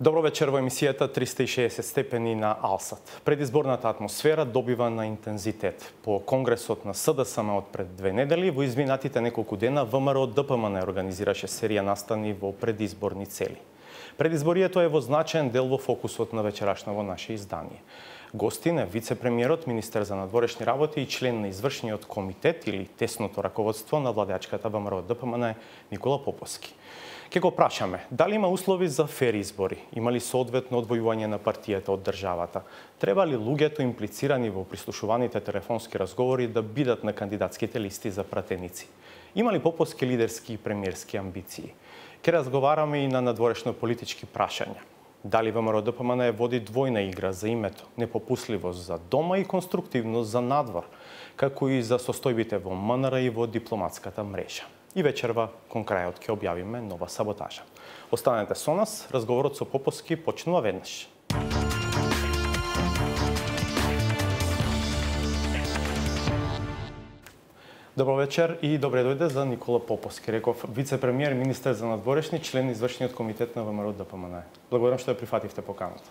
Добро вечер во емисијата 360 степени на Алсат. Предизборната атмосфера добива на интензитет. По конгресот на СДСМ од пред 2 недели, во изминатите неколку дена ВМРО ДПМН организираше серија настани во предизборни цели. Предизборието е во значаен дел во фокусот на вечерашно наше издание. Гостин е вице-премиерот, министер за надворешни работи и член на извршниот комитет или тесното раководство на владеачката ВМРО ДПМН Никола Поповски. Ке го прашаме, дали има услови за фер избори? Има ли соодветно одвојување на партијата од државата? Треба ли луѓето имплицирани во прислушуваните телефонски разговори да бидат на кандидатските листи за пратеници? Има ли Поповски лидерски и премиерски амбиции? Ке разговараме и на надворешно политички прашања. Дали ВМРО ДПМН води двојна игра за името, непопусливост за дома и конструктивност за надвор, како и за состојбите во МНР и во дипломатската мрежа? И вечерва, кон крајот, ќе објавиме нова саботажа. Останете со нас, разговорот со Поповски почнува веднаш. Добро вечер и добре дојде за Никола Поповски. Реков вице-премиер, министер за надворешни, член на извршниот комитет на ВМРО ДПМН. Благодарам што ја прифативте поканата.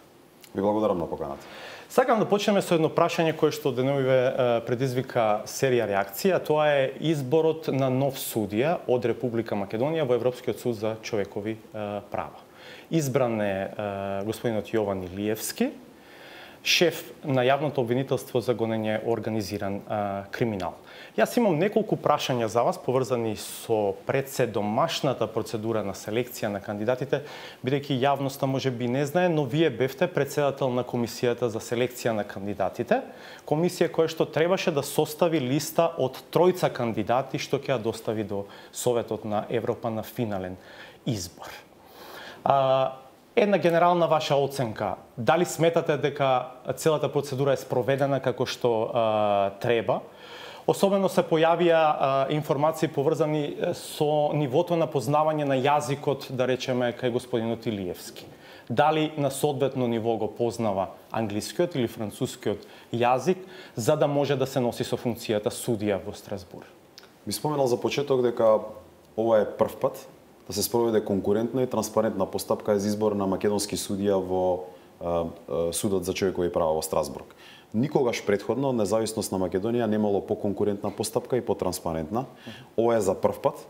Ви благодарам на поканата. Сакам да почнеме со едно прашање кое што деновиве предизвика серија реакција. Тоа е изборот на нов судија од Република Македонија во Европскиот суд за човекови права. Избран е господинот Јован Илиевски, шеф на јавното обвинителство за гонење организиран криминал. Јас имам неколку прашања за вас поврзани со председомашната процедура на селекција на кандидатите, бидејќи јавноста можеби не знае, но вие бевте председател на комисијата за селекција на кандидатите, комисија која што требаше да состави листа од 3 кандидати што ќе ја достави до Советот на Европа на финален избор. Една генерална ваша оценка, дали сметате дека целата процедура е спроведена како што треба? Особено се појавија информации поврзани со нивото на познавање на јазикот, да речеме, кај господинот Илиевски. Дали на соодветно ниво го познава англискиот или францускиот јазик, за да може да се носи со функцијата судија во Страсбур? Би споменал за почеток дека ова е прв пат да се спроведе конкурентна и транспарентна постапка за избор на македонски судија во Судот за човекови права во Страсбург. Никогаш претходно од независност на Македонија немало поконкурентна постапка и потранспарентна. Ова е за прв пат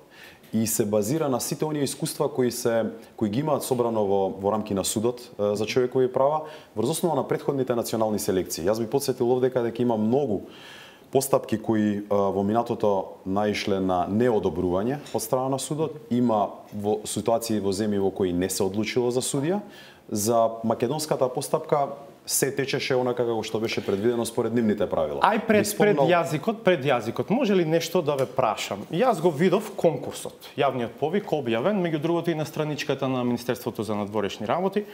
и се базира на сите оние искуства кои ги имаат собрано во рамки на Судот за човекови права врз основа на претходните национални селекции. Јас би потсетил овдека дека има многу постапки кои во минатото наишле на неодобрување од страна на Судот, има во ситуации во земји во кои не се одлучило за судија. За македонската постапка се течеше онака како што беше предвидено според нивните правила. Ај пред јазикот, може ли нешто да ве прашам? Јас го видов конкурсот, јавниот повик објавен, меѓу другото и на страничката на Министерството за надворешни работи,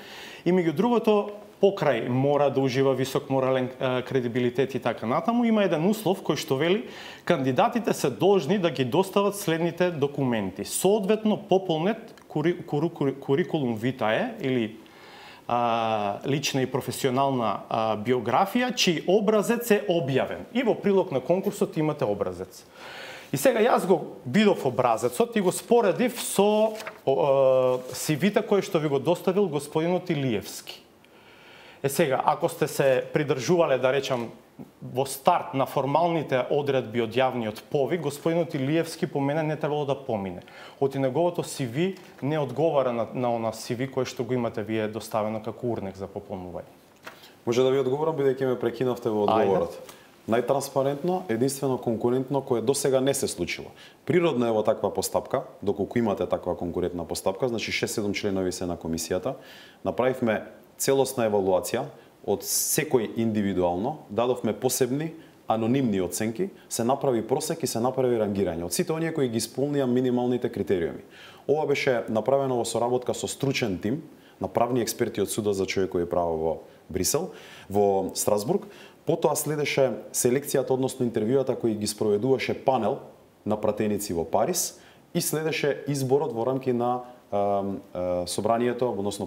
и меѓу другото покрај мора да ужива висок морален кредибилитет и така натаму, има еден услов кој што вели кандидатите се должни да ги достават следните документи. Соодветно пополнет курикулум витае или лична и професионална биографија, чиј образец е објавен. И во прилог на конкурсот имате образец. И сега јас го видов образецот и го споредив со CV-та кој што ви го доставил господинот Илиевски. Сега, ако сте се придржувале, да речам, во старт на формалните одредби од јавниот повик, господинот Илиевски по мене не требало да помине. Оти неговото CV не одговара на она CV кој што го имате вие доставено како урнек за пополнување. Може да ви одговорам, бидејќи ме прекинавте во одговорот. Најтранспарентно, единствено конкурентно, кое досега не се случило. Природно е во таква постапка, доколку имате таква конкурентна постапка, значи 6-7 членови се на комисијата, направивме целосна евалуација од секој индивидуално, дадовме посебни анонимни оценки, се направи просек и се направи рангирање од сите оние кои ги исполнија минималните критериуми. Ова беше направено во соработка со стручен тим на правни експерти од Судот за човекови права во Брисел, во Страсбург. Потоа следеше селекцијата, односно интервјуата кои ги спроведуваше панел на пратеници во Париз и следеше изборот во рамки на собранието, односно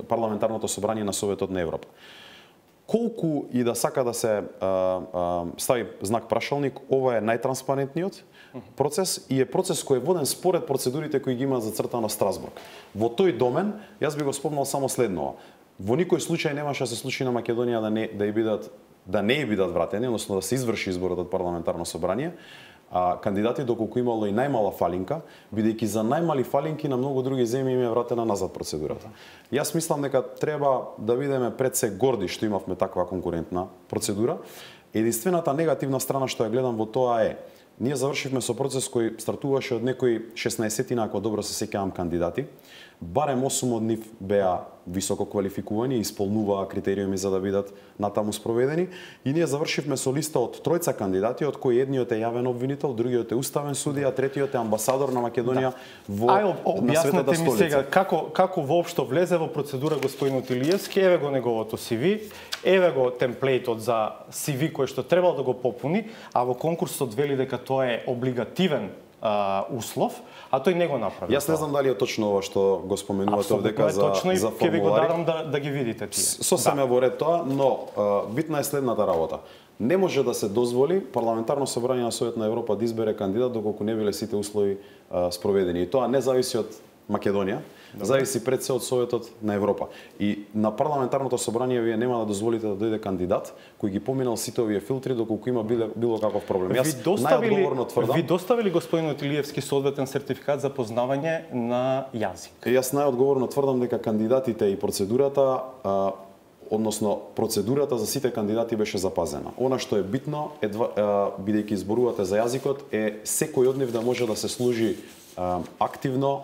парламентарното собрание на Советот на Европа. колку и да сака да се стави знак прашалник, ова е најтранспарентниот процес и е процес кој е воден според процедурите кои ги има зацртано Страсбург. Во тој домен, јас би го спомнал само следново. Во никој случај немаше да се случи на Македонија да не бидат вратени, односно да се изврши изборот од парламентарно собрание, кандидати доколку имало и најмала фалинка, бидејќи за најмали фалинки на многу други земји им е вратена назад процедурата. Јас мислам дека треба да бидеме пред се горди што имавме таква конкурентна процедура. Единствената негативна страна што ја гледам во тоа е, ние завршивме со процес кој стартуваше од некои 16-тина, ако добро се сеќавам, кандидати. Барем 8 од нив беа високо квалификувани и исполнуваа критериуми за да бидат натаму спроведени. И ние завршивме со листа од тројца кандидати, од кои едниот е јавен обвинител, другиот е уставен судија, третиот е амбасадор на Македонија на Светата столица. Сега како воопшто влезе во процедура господинот Илиевски, еве го неговото CV, еве го темплейтот за CV кој што требал да го попуни, а во конкурсот вели дека тоа е облигативен услов, а тој не го направи. Јас не знам дали е точно ова што го споменувате овдека за формулари. Ќе ви го дарам да ги видите тие. Сосем е во ред тоа, но битна е следната работа. Не може да се дозволи парламентарно собрание на Совет на Европа да избере кандидат доколку не биле сите услови спроведени. И тоа не зависи од Македонија, зависи пред се од Советот на Европа. И на парламентарното собрание вие нема да дозволите да дојде кандидат кој ги поминал сите овие филтри доколку има било каков проблем. Јас најодговорно тврдам. Ви доставили господинот Илиевски соодветен сертификат за познавање на јазик? Јас најодговорно тврдам дека кандидатите и процедурата односно процедурата за сите кандидати беше запазена. Она што е битно е бидејќи зборувате за јазикот е секој од нив да може да се служи активно,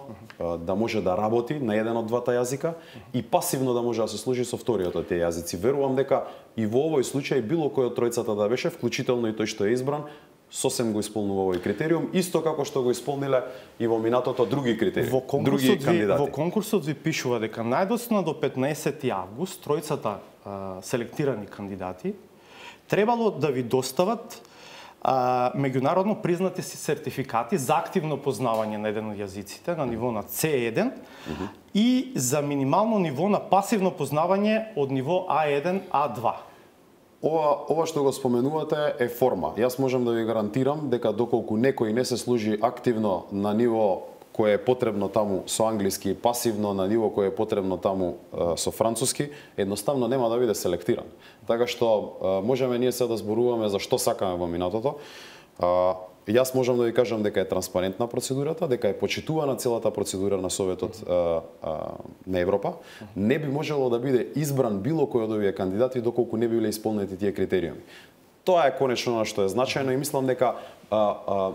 да може да работи на еден од двата јазика и пасивно да може да се служи со вториот од тие јазици. Верувам дека и во овој случај било кој од тројцата да беше, вклучително и тој што е избран, сосем го исполнува овој критериум, исто како што го исполниле и во минатото други критериуми, други кандидати. Во конкурсот ви пишува дека најдоцна до 15 август тројцата селектирани кандидати требало да ви достават меѓународно признати сертификати за активно познавање на еден од јазиците на ниво на C1 и за минимално ниво на пасивно познавање од ниво A1, A2. Ова што го споменувате е форма. Јас можам да ви гарантирам дека доколку некој не се служи активно на ниво кое е потребно таму со англиски, пасивно на ниво кое е потребно таму со француски, едноставно нема да биде селектиран. Така што можеме ние се да зборуваме за што сакаме во минатото. Јас можам да ви кажам дека е транспарентна процедурата, дека е почитувана целата процедура на Советот на Европа. Не би можело да биде избран било кој од овие кандидати доколку не биле исполнети тие критериуми. Тоа е конечно на што е значајно и мислам дека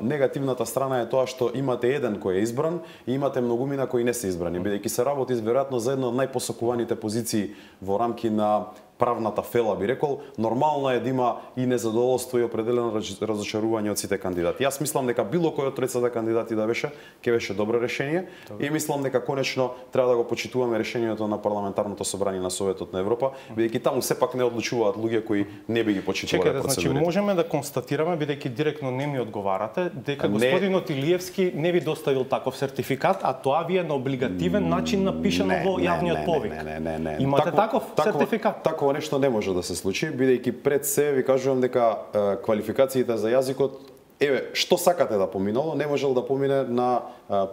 негативната страна е тоа што имате еден кој е избран и имате многумина кои не се избрани, бидејќи се работи веројатно за една од најпосакуваните позиции во рамки на правната фела, би рекол, нормално е да има и незадоволство и определено разочарување од сите кандидати. Јас мислам дека било кој од тројцата кандидати да беше, ќе беше добро решение и мислам дека конечно треба да го почитуваме решението на парламентарното собрание на Советот на Европа, бидејќи таму сепак не одлучуваат луѓе кои не би ги почитувале процедурите. Значи можеме да констатираме, бидејќи директно не ми одговарате, дека господинот Илиевски не ви доставил таков сертификат, а тоа ви е на облигативен начин напишано во јавниот повик. Не. Имате таков сертификат? Такова нешто не може да се случи, бидејќи пред се ви кажувам дека квалификациите за јазикот, еве, што сакате да поминало, не можел да помине на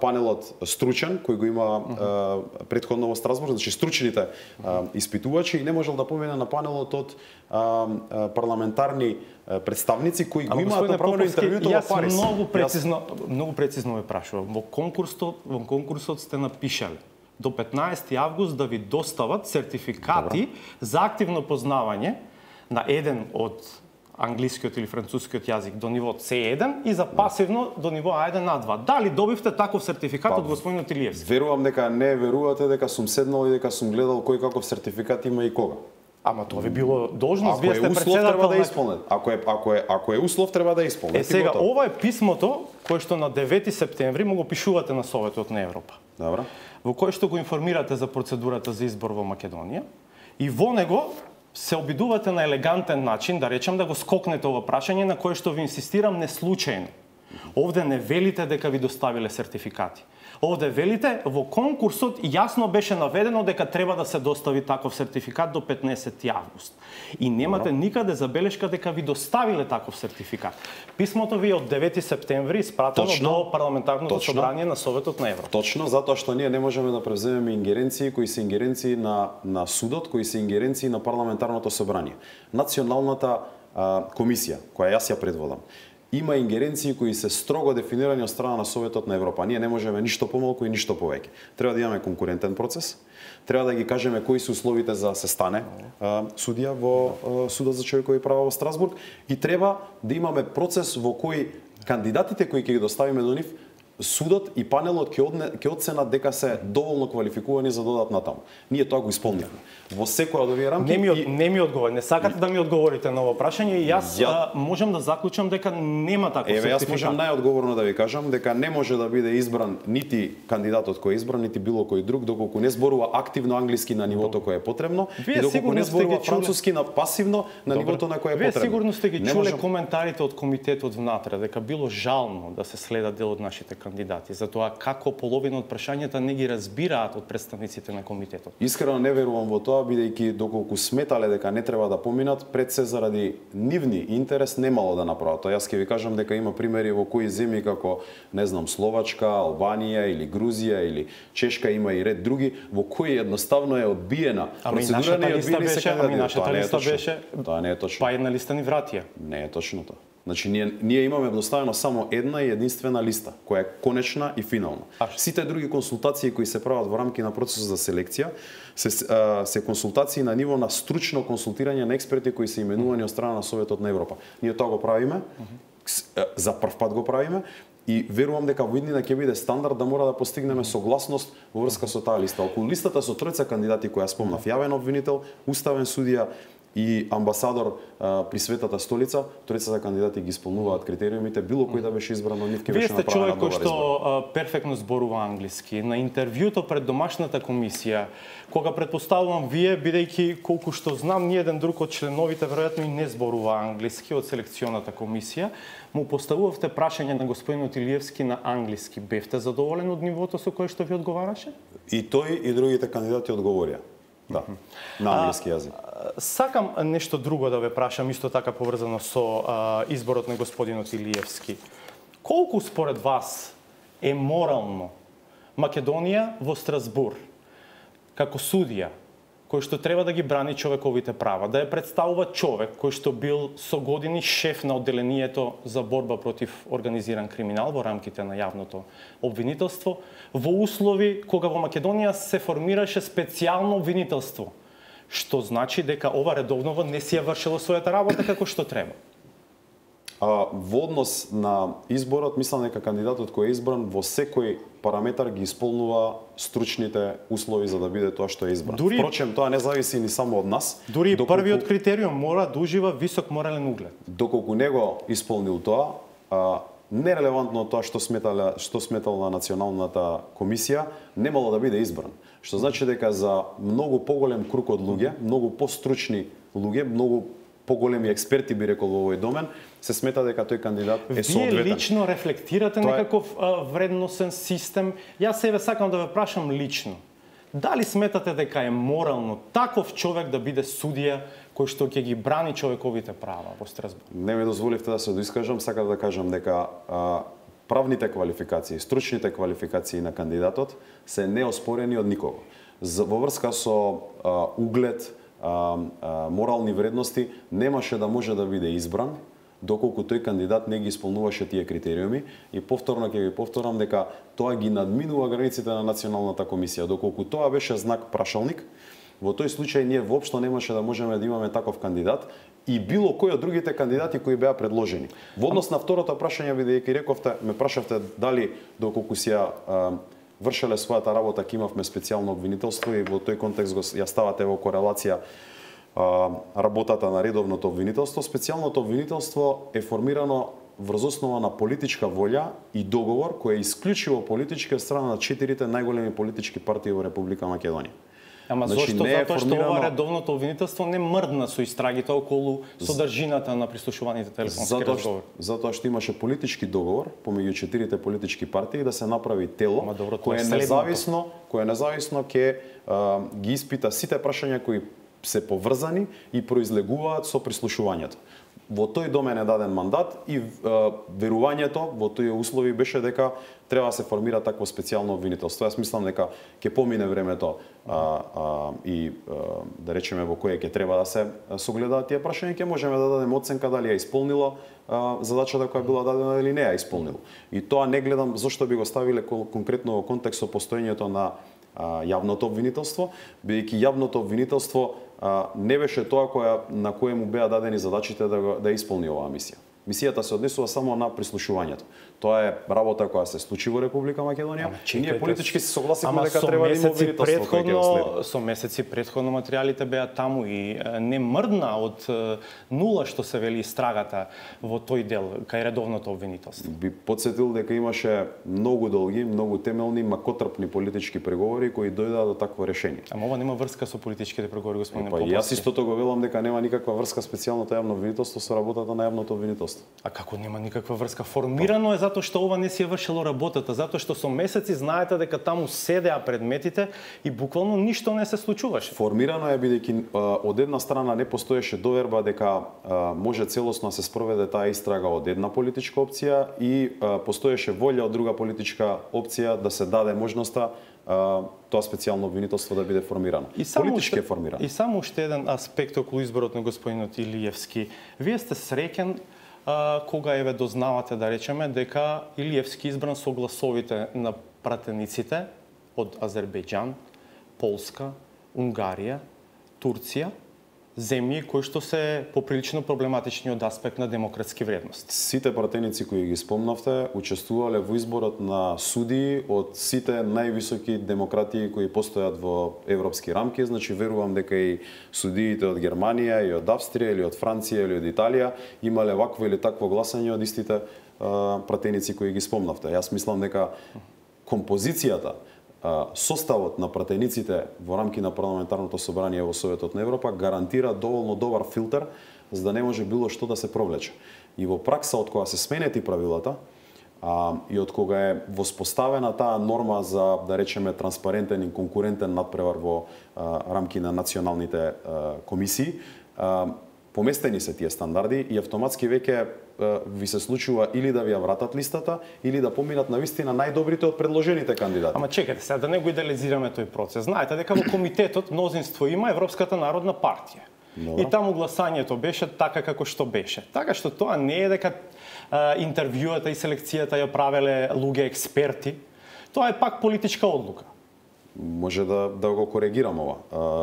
панелот стручен, кој го има претходно во Страсбург, значи стручните испитувачи, и не можел да помине на панелот од парламентарни представници кои го имаат направено интервјуто во Париз. Многу прецизно ве прашувам. Во конкурсот сте напишале до 15 август да ви достават сертификати за активно познавање на еден од англискиот или францускиот јазик до ниво C1 и за пасивно до ниво A1, A2. Дали добивте таков сертификат од господинот Илиевски? Верувам дека не верувате дека сум седнал и дека сум гледал кој каков сертификат има и кога. Ама тоа ви било должност, вие сте председател. Треба да исполнет. Ако е услов, треба да исполнет. Сега, ова е писмото кое што на 9 септември му го пишувате на Советот на Европа. Добро. Во кој што го информирате за процедурата за избор во Македонија и во него се обидувате на елегантен начин, да речем, да го скокнете ова прашање на кое што ви инсистирам не случајно. Овде не велите дека ви доставиле сертификати. Овде велите, во конкурсот јасно беше наведено дека треба да се достави таков сертификат до 15 август. И немате никаде забелешка дека ви доставиле таков сертификат. Писмото ви е од 9 септември испратено до парламентарното собрание на Советот на Европа. Точно, затоа што ние не можеме да превземеме ингеренции кои се ингеренции на судот, кои се ингеренции на парламентарното собрание. Националната комисија, која јас ја предводам, има ингеренции кои се строго дефинирани од страна на Советот на Европа. Ние не можеме ништо помалку и ништо повеќе. Треба да имаме конкурентен процес, треба да ги кажеме кои се условите за да се стане судија во Судот за човекови права во Страсбург и треба да имаме процес во кој кандидатите кои ќе ги доставиме до нив, судот и панелот ќе оценат дека се доволно квалификувани за додат натаму. Ние тоа го исполнивме. Во секоја од овие рамки не ми одговори, не сакате да ми одговорите на ова прашање и јас можам да заклучам дека нема таков сертификат. Јас можам најодговорно да ви кажам дека не може да биде избран нити кандидатот кој е избран, нити било кој друг доколку не зборува активно англиски на нивото кое е потребно и доколку не зборува француски на пасивно на нивото на кое е потребно. Вие сигурно сте ги чуле коментарите од комитетот внатре дека било жално да се следат дел од нашите кандидати, затоа како половина од прашањата не ги разбираат од представниците на комитетот. Искрено не верувам во тоа, бидејќи доколку сметале дека не треба да поминат, пред се заради нивни интерес немало да направат. Тоа јас ќе ви кажам дека има примери во кои земји како, не знам, Словачка, Албанија или Грузија или Чешка, има и ред други, во кои едноставно е одбиена процедурата и одбиени се кандидати. Нашата листа беше, тоа не е точно. Па една листа ни вратија. Не е точно тоа. Значи, ние имаме доставено само една и единствена листа, која е конечна и финална. Сите други консултации кои се прават во рамки на процесот за селекција, се консултации на ниво на стручно консултирање на експерти кои се именувани од страна на Советот на Европа. Ние тоа го правиме, за прв пат го правиме, и верувам дека во иднина ќе биде стандард да мора да постигнеме согласност во врска со таа листа. Околу листата со тројца кандидати кои ја спомнав, јавен обвинител, уставен судија и амбасадор при Светата столица, тројцата кандидати ги исполнуваат критериумите, било кој да беше избран од нив ќе беше направена добар избор. Вие сте човек кој што перфектно зборува англиски. На интервјуто пред домашната комисија, кога претпоставувам вие, бидејќи колку што знам, ни еден друг од членовите веројатно и не зборува англиски од селекционата комисија, му поставувавте прашање на господинот Илиевски на англиски. Бевте задоволен од нивото со кое што ви одговараше? И тој и другите кандидати одговорија. Да, на англиски јазик. Сакам нешто друго да ве прашам, исто така поврзано со изборот на господинот Илиевски. Колку според вас е морално Македонија во Страсбур, како судија, кој што треба да ги брани човековите права, да ја представува човек кој што бил со години шеф на одделението за борба против организиран криминал во рамките на јавното обвинителство, во услови кога во Македонија се формираше специјално обвинителство, што значи дека ова редовново не си ја вршило својата работа како што треба. Во однос на изборот, мислам дека кандидатот кој е избран во секој параметар ги исполнува стручните услови за да биде тоа што е избран. Впрочем, тоа не зависи ни само од нас. Дури првиот критериум мора да ужива висок морален углед. Доколку не го исполнил тоа, нерелевантно тоа што сметала националната комисија, немало да биде избран. Што значи дека за многу поголем круг од луѓе, многу постручни луѓе, многу поголеми експерти би рекол во овој домен, се смета дека тој кандидат е соодветен. Вие лично рефлектирате некаков вредносен систем. Јас себе сакам да ве прашам лично. Дали сметате дека е морално таков човек да биде судија кој што ќе ги брани човековите права во Страсбург? Не ми дозволивте да се доискажам, сакам да кажам дека правните квалификации, стручните квалификации на кандидатот се неоспорени од никого. Во врска со углед, морални вредности, немаше да може да биде избран доколку тој кандидат не ги исполнуваше тие критериуми и повторно ќе ви повторам дека тоа ги надминува границите на националната комисија. Доколку тоа беше знак прашалник, во тој случај ние воопшто немаше да можеме да имаме таков кандидат и било кој од другите кандидати кои беа предложени. Во однос на второто прашање, бидејќи рековте, ме прашавте дали доколку си ја вршеле својата работа, ќе имавме специјално обвинителство и во тој контекст ја ставате во корелација работата на редовното обвинителство. Специјалното обвинителство е формирано врз основа на политичка волја и договор кој е исклучиво политички од страна на 4 најголеми политички партии во Република Македонија. Ама Значи, зошто? не е Затоа што формирано- ова редовното обвинителство не мрдна со истрагите околу содржината на прислушуваните телефонски разговори. Затоа што имаше политички договор помеѓу четирите политички партии да се направи тело Ама добро, тоа кое е е следното. независно ќе ги испита сите прашања кои се поврзани и произлегуваат со прислушувањето. Во тој домен е даден мандат и верувањето во тој услови беше дека треба да се формира такво специјално обвинителство. Јас мислам дека ќе помине времето да речеме во кое ќе треба да се согледаат тие прашања, ќе можеме да дадеме оценка дали ја исполнило задачата која била дадена или не ја исполнило. И тоа не гледам зошто би го ставиле конкретно во контекст со постоењето на јавното обвинителство, бидејќи јавното обвинителство не беше тоа на кое му беа дадени задачите да исполни оваа мисија. Мисијата се однесува само на прислушувањето. Тоа е работа која се случи во Република Македонија. И ние политички се согласивме дека треба да има обвинителство кој ќе го следи. Со месеци претходно материјалите беа таму и не мрдна од нула што се вели истрагата во тој дел кај редовното обвинителство. Би потсетил дека имаше многу долги, многу темелни, макотрпни политички преговори кои дојдоа до такво решение. Ама ова нема врска со политичките преговори, господин Поповски. Јас истото го велам дека нема никаква врска специјалното јавно обвинителство со работата на јавното обвинителство. А како нема никаква врска? Формирано е затоа што ова не си е вршило работата, затоа што со месеци знаете дека таму седеа предметите и буквално ништо не се случуваше. Формирано е бидејќи од една страна не постоеше доверба дека може целосно да се спроведе таа истрага од една политичка опција и постоеше волја од друга политичка опција да се даде можноста тоа специјално обвинителство да биде формирано. Политички е формирано. И само уште еден аспект околу изборот на господинот Илиевски. Вие сте среќен кога еве дознавате, да речеме, дека Илиевски избран со гласовите на пратениците од Азербејџан, Полска, Унгарија, Турција, земји кои што се поприлично проблематични од аспект на демократски вредности. Сите пратеници кои ги спомнавте учествувале во изборот на судии од сите највисоки демократии кои постојат во европски рамки, значи верувам дека и судиите од Германија и од Австрија или од Франција или од Италија имале вакво или такво гласање од истите пратеници кои ги спомнавте. Јас мислам дека композицијата, составот на пратениците во рамки на парламентарното собрание во Советот на Европа гарантира доволно добар филтер за да не може било што да се провлече. И во пракса од кога се сменети правилата и од кога е воспоставена таа норма за, да речеме, транспарентен и конкурентен надпревар во рамки на националните комисии, поместени се тие стандарди и автоматски веќе ви се случува или да ви ја вратат листата, или да поминат на вистина најдобрите од предложените кандидати. Ама чекайте сега, да не го идеализираме тој процес. Знаете дека во комитетот мнозинство има Европската народна партија. Добро. И таму гласањето беше така како што беше. Така што тоа не е дека интервјуата и селекцијата ја правеле луѓе експерти. Тоа е пак политичка одлука. Може да го коригирам ова,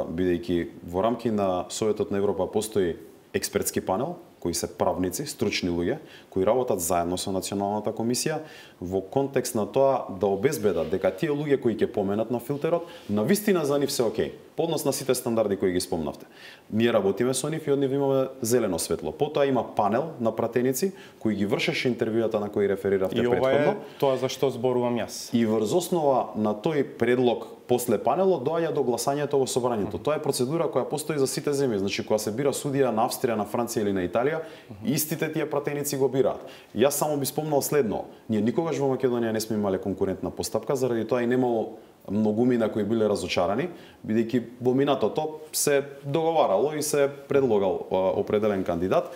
бидејќи во рамки на Советот на Европа постои експертски панел, кои се правници, стручни луѓе, кои работат заедно со Националната комисија во контекст на тоа да обезбедат дека тие луѓе кои ќе поменат на филтерот, на вистина за нив се окей, по однос на сите стандарди кои ги спомнавте. Ние работиме со нив и од нив имаме зелено светло. Потоа има панел на пратеници кои ги вршеше интервјуата на кои рефериравте претходно. И ова е тоа за што зборувам јас. И врз основа на тој предлог после панелот доаѓа до гласањето во собранието. Тоа е процедура која постои за сите земји. Значи кога се бира судија на Австрија, на Франција или на Италија, истите тие пратеници го бираат. Јас само би спомнал следно. Ние никогаш во Македонија не сме имале конкурентна постапка, заради тоа и немало многумина кои биле разочарани, бидејќи во минатото се договарало и се предлагал определен кандидат.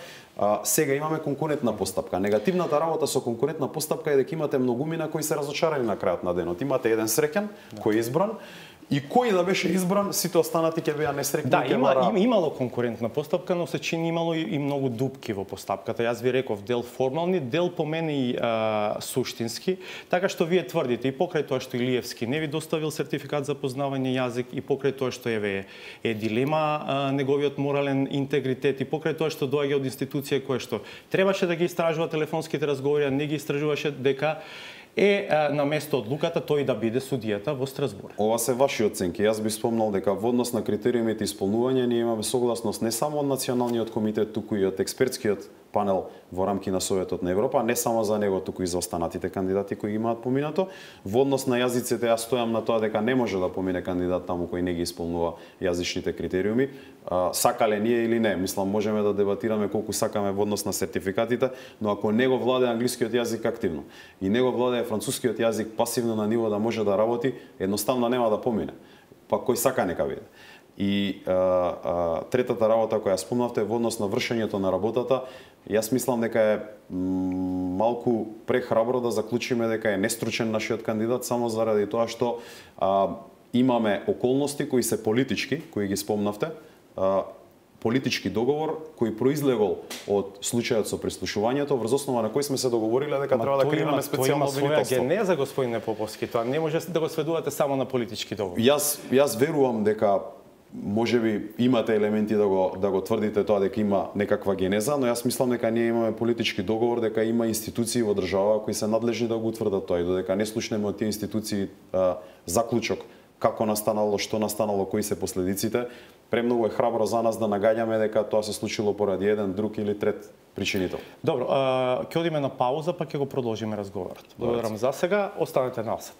Сега имаме конкурентна постапка. Негативната работа со конкурентна постапка е дека имате многумина кои се разочарани на крајот на денот. Имате еден среќен кој е избран и кој да беше избран, сите останати ќе беа несреќни. Да, имало конкурентна постапка, но се чини имало и многу дупки во постапката. Јас ви реков дел формални, дел по мене и суштински, така што вие тврдите и покрај тоа што Илиевски не ви доставил сертификат за познавање јазик и покрај тоа што е дилема неговиот морален интегритет и покрај тоа што доаѓа од институција која што требаше да ги истражува телефонските разговори, а не ги истражуваше, дека на место одлуката тој да биде судијата во Страсбург. Ова се ваши оценки. Јас би спомнал дека во однос на критериумите исполнување ние имаме согласност не само од Националниот комитет, туку и од експертскиот панел во рамки на Советот на Европа, не само за него, туку и за останатите кандидати кои имаат поминато. Во однос на јазиците, јас стојам на тоа дека не може да помине кандидат таму кој не ги исполнува јазичните критериуми. Сакале ние или не, мислам можеме да дебатираме колку сакаме во однос на сертификатите, но ако него владее англискиот јазик активно и него владее францускиот јазик пасивно на ниво да може да работи, едноставно нема да помине. Па кој сака нека биде. И третата работа која спомнавте во однос на вршењето на работата, јас мислам дека е малку прехрабро да заклучиме дека е нестручен нашиот кандидат само заради тоа што имаме околности кои се политички, кои ги спомнавте, политички договор кој произлегол од случајот со прислушувањето, врз основа на кој сме се договориле дека треба да креираме специјално обвинителство. Тоа има своја генеза, господине Поповски, тоа не може да го сведувате само на политички договор. Јас верувам дека можеби имате елементи да го тврдите тоа дека има некаква генеза, но јас мислам дека ние имаме политички договор, дека има институции во држава кои се надлежни да го утврдат тоа и додека не слушнеме од тие институции заклучок како настанало, што настанало, кои се последиците, премногу е храбро за нас да нагаѓаме дека тоа се случило поради еден, друг или трет причинител. Добро, ќе одиме на пауза, па ќе го продолжиме разговорот. Благодарам за сега, останете на Алсат.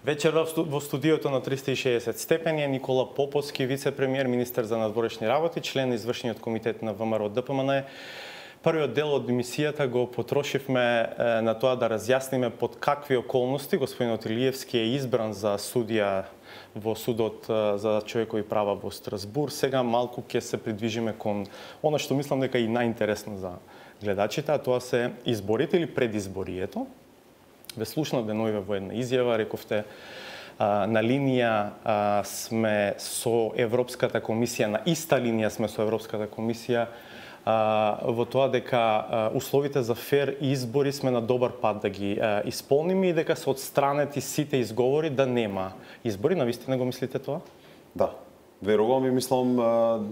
Вечер во студиото на 360 степени е Никола Поповски, вице-премиер, министер за надворешни работи, член на извршниот комитет на ВМРО ДПМН. Првиот дел од емисијата го потрошивме на тоа да разјасниме под какви околности господинот Илиевски е избран за судија во судот за човекови права во Страсбург. Сега малку ќе се придвижиме кон она што мислам дека е и најинтересно за гледачите, а тоа се изборите или предизборието. Ве слушнав деновиве во една изјава, рековте на линија сме со Европската комисија, на иста линија сме со Европската комисија во тоа дека условите за фер избори сме на добар пат да ги исполниме и дека се отстранети сите изговори да нема избори. Навистина го мислите тоа? Да. Верувам и мислам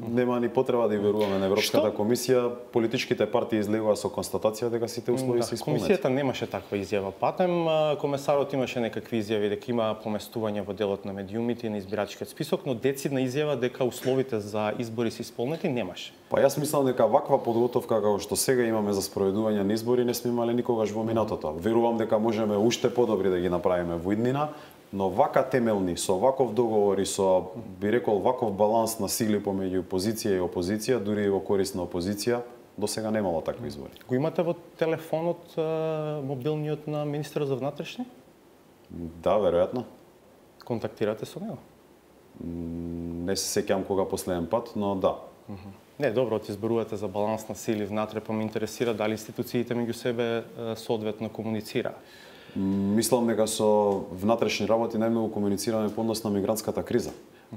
нема ни потреба да и веруваме на Европската комисија. Политичките партии излегува со констатација дека сите услови се исполнети. Комисијата немаше таква изјава патем. Комесарот имаше некакви изјави дека има поместување во делот на медиумите и на избирачкиот список, но децидна изјава дека условите за избори се исполнети немаше. Па јас мислам дека ваква подготовка како што сега имаме за спроведување на избори не сме имале никогаш во минатото. Верувам дека можеме уште подобри да ги направиме во иднина. Но вака темелни, со ваков договор и со, би рекол, ваков баланс на сили помеѓу позиција и опозиција, дури и во корист на опозиција, до сега немало такви избори. Го имате во телефонот мобилниот на министерот за внатрешни? Да, веројатно. Контактирате со него? Не се сеќам кога последен пат, но да. Не, добро, ти зборувате за баланс на сили внатре, па ме интересира дали институциите меѓу себе соодветно комуницираат. Мислам дека со внатрешни работи најмногу комуницираме по однос на мигрантската криза.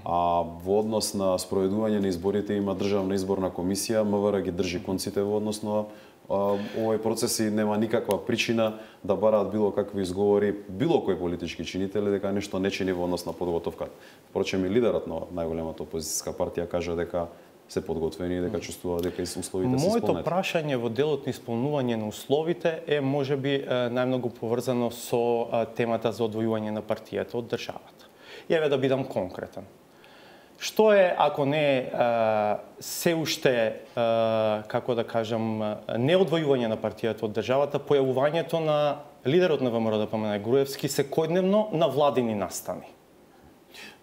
А во однос на спроведување на изборите има државна изборна комисија, МВР ги држи конците во однос на овој процес и нема никаква причина да бараат било какви изговори било кој политички чинители дека нешто не чини во однос на подготовката. Впрочем и лидерот на најголемата опозицијска партија кажа дека се подготвени и дека чувствува дека условите се исполнети. Моето прашање во делот на исполнување на условите е можеби најмногу поврзано со темата за одвојување на партијата од државата. И еве да бидам конкретен. Што е, ако не се уште, како да кажам, не одвојување на партијата од државата, појавувањето на лидерот на ВМРО ДПМН Груевски секојдневно на владини настани?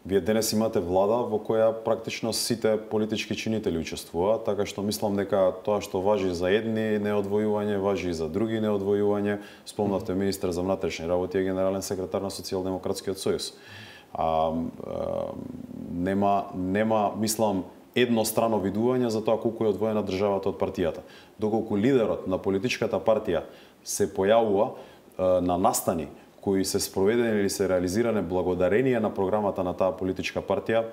Вие денес имате влада во која практично сите политички чинители учествуваат, така што мислам дека тоа што важи за едни неодвојување, важи и за други неодвојување. Спомнавте министер за внатрешни работи и генерален секретар на Социјалдемократскиот сојуз. Нема, мислам, еднострано видување за тоа колку е одвоена државата од партијата. Доколку лидерот на политичката партија се појавува на настани кои се спроведени или се реализиране благодарение на програмата на таа политичка партија,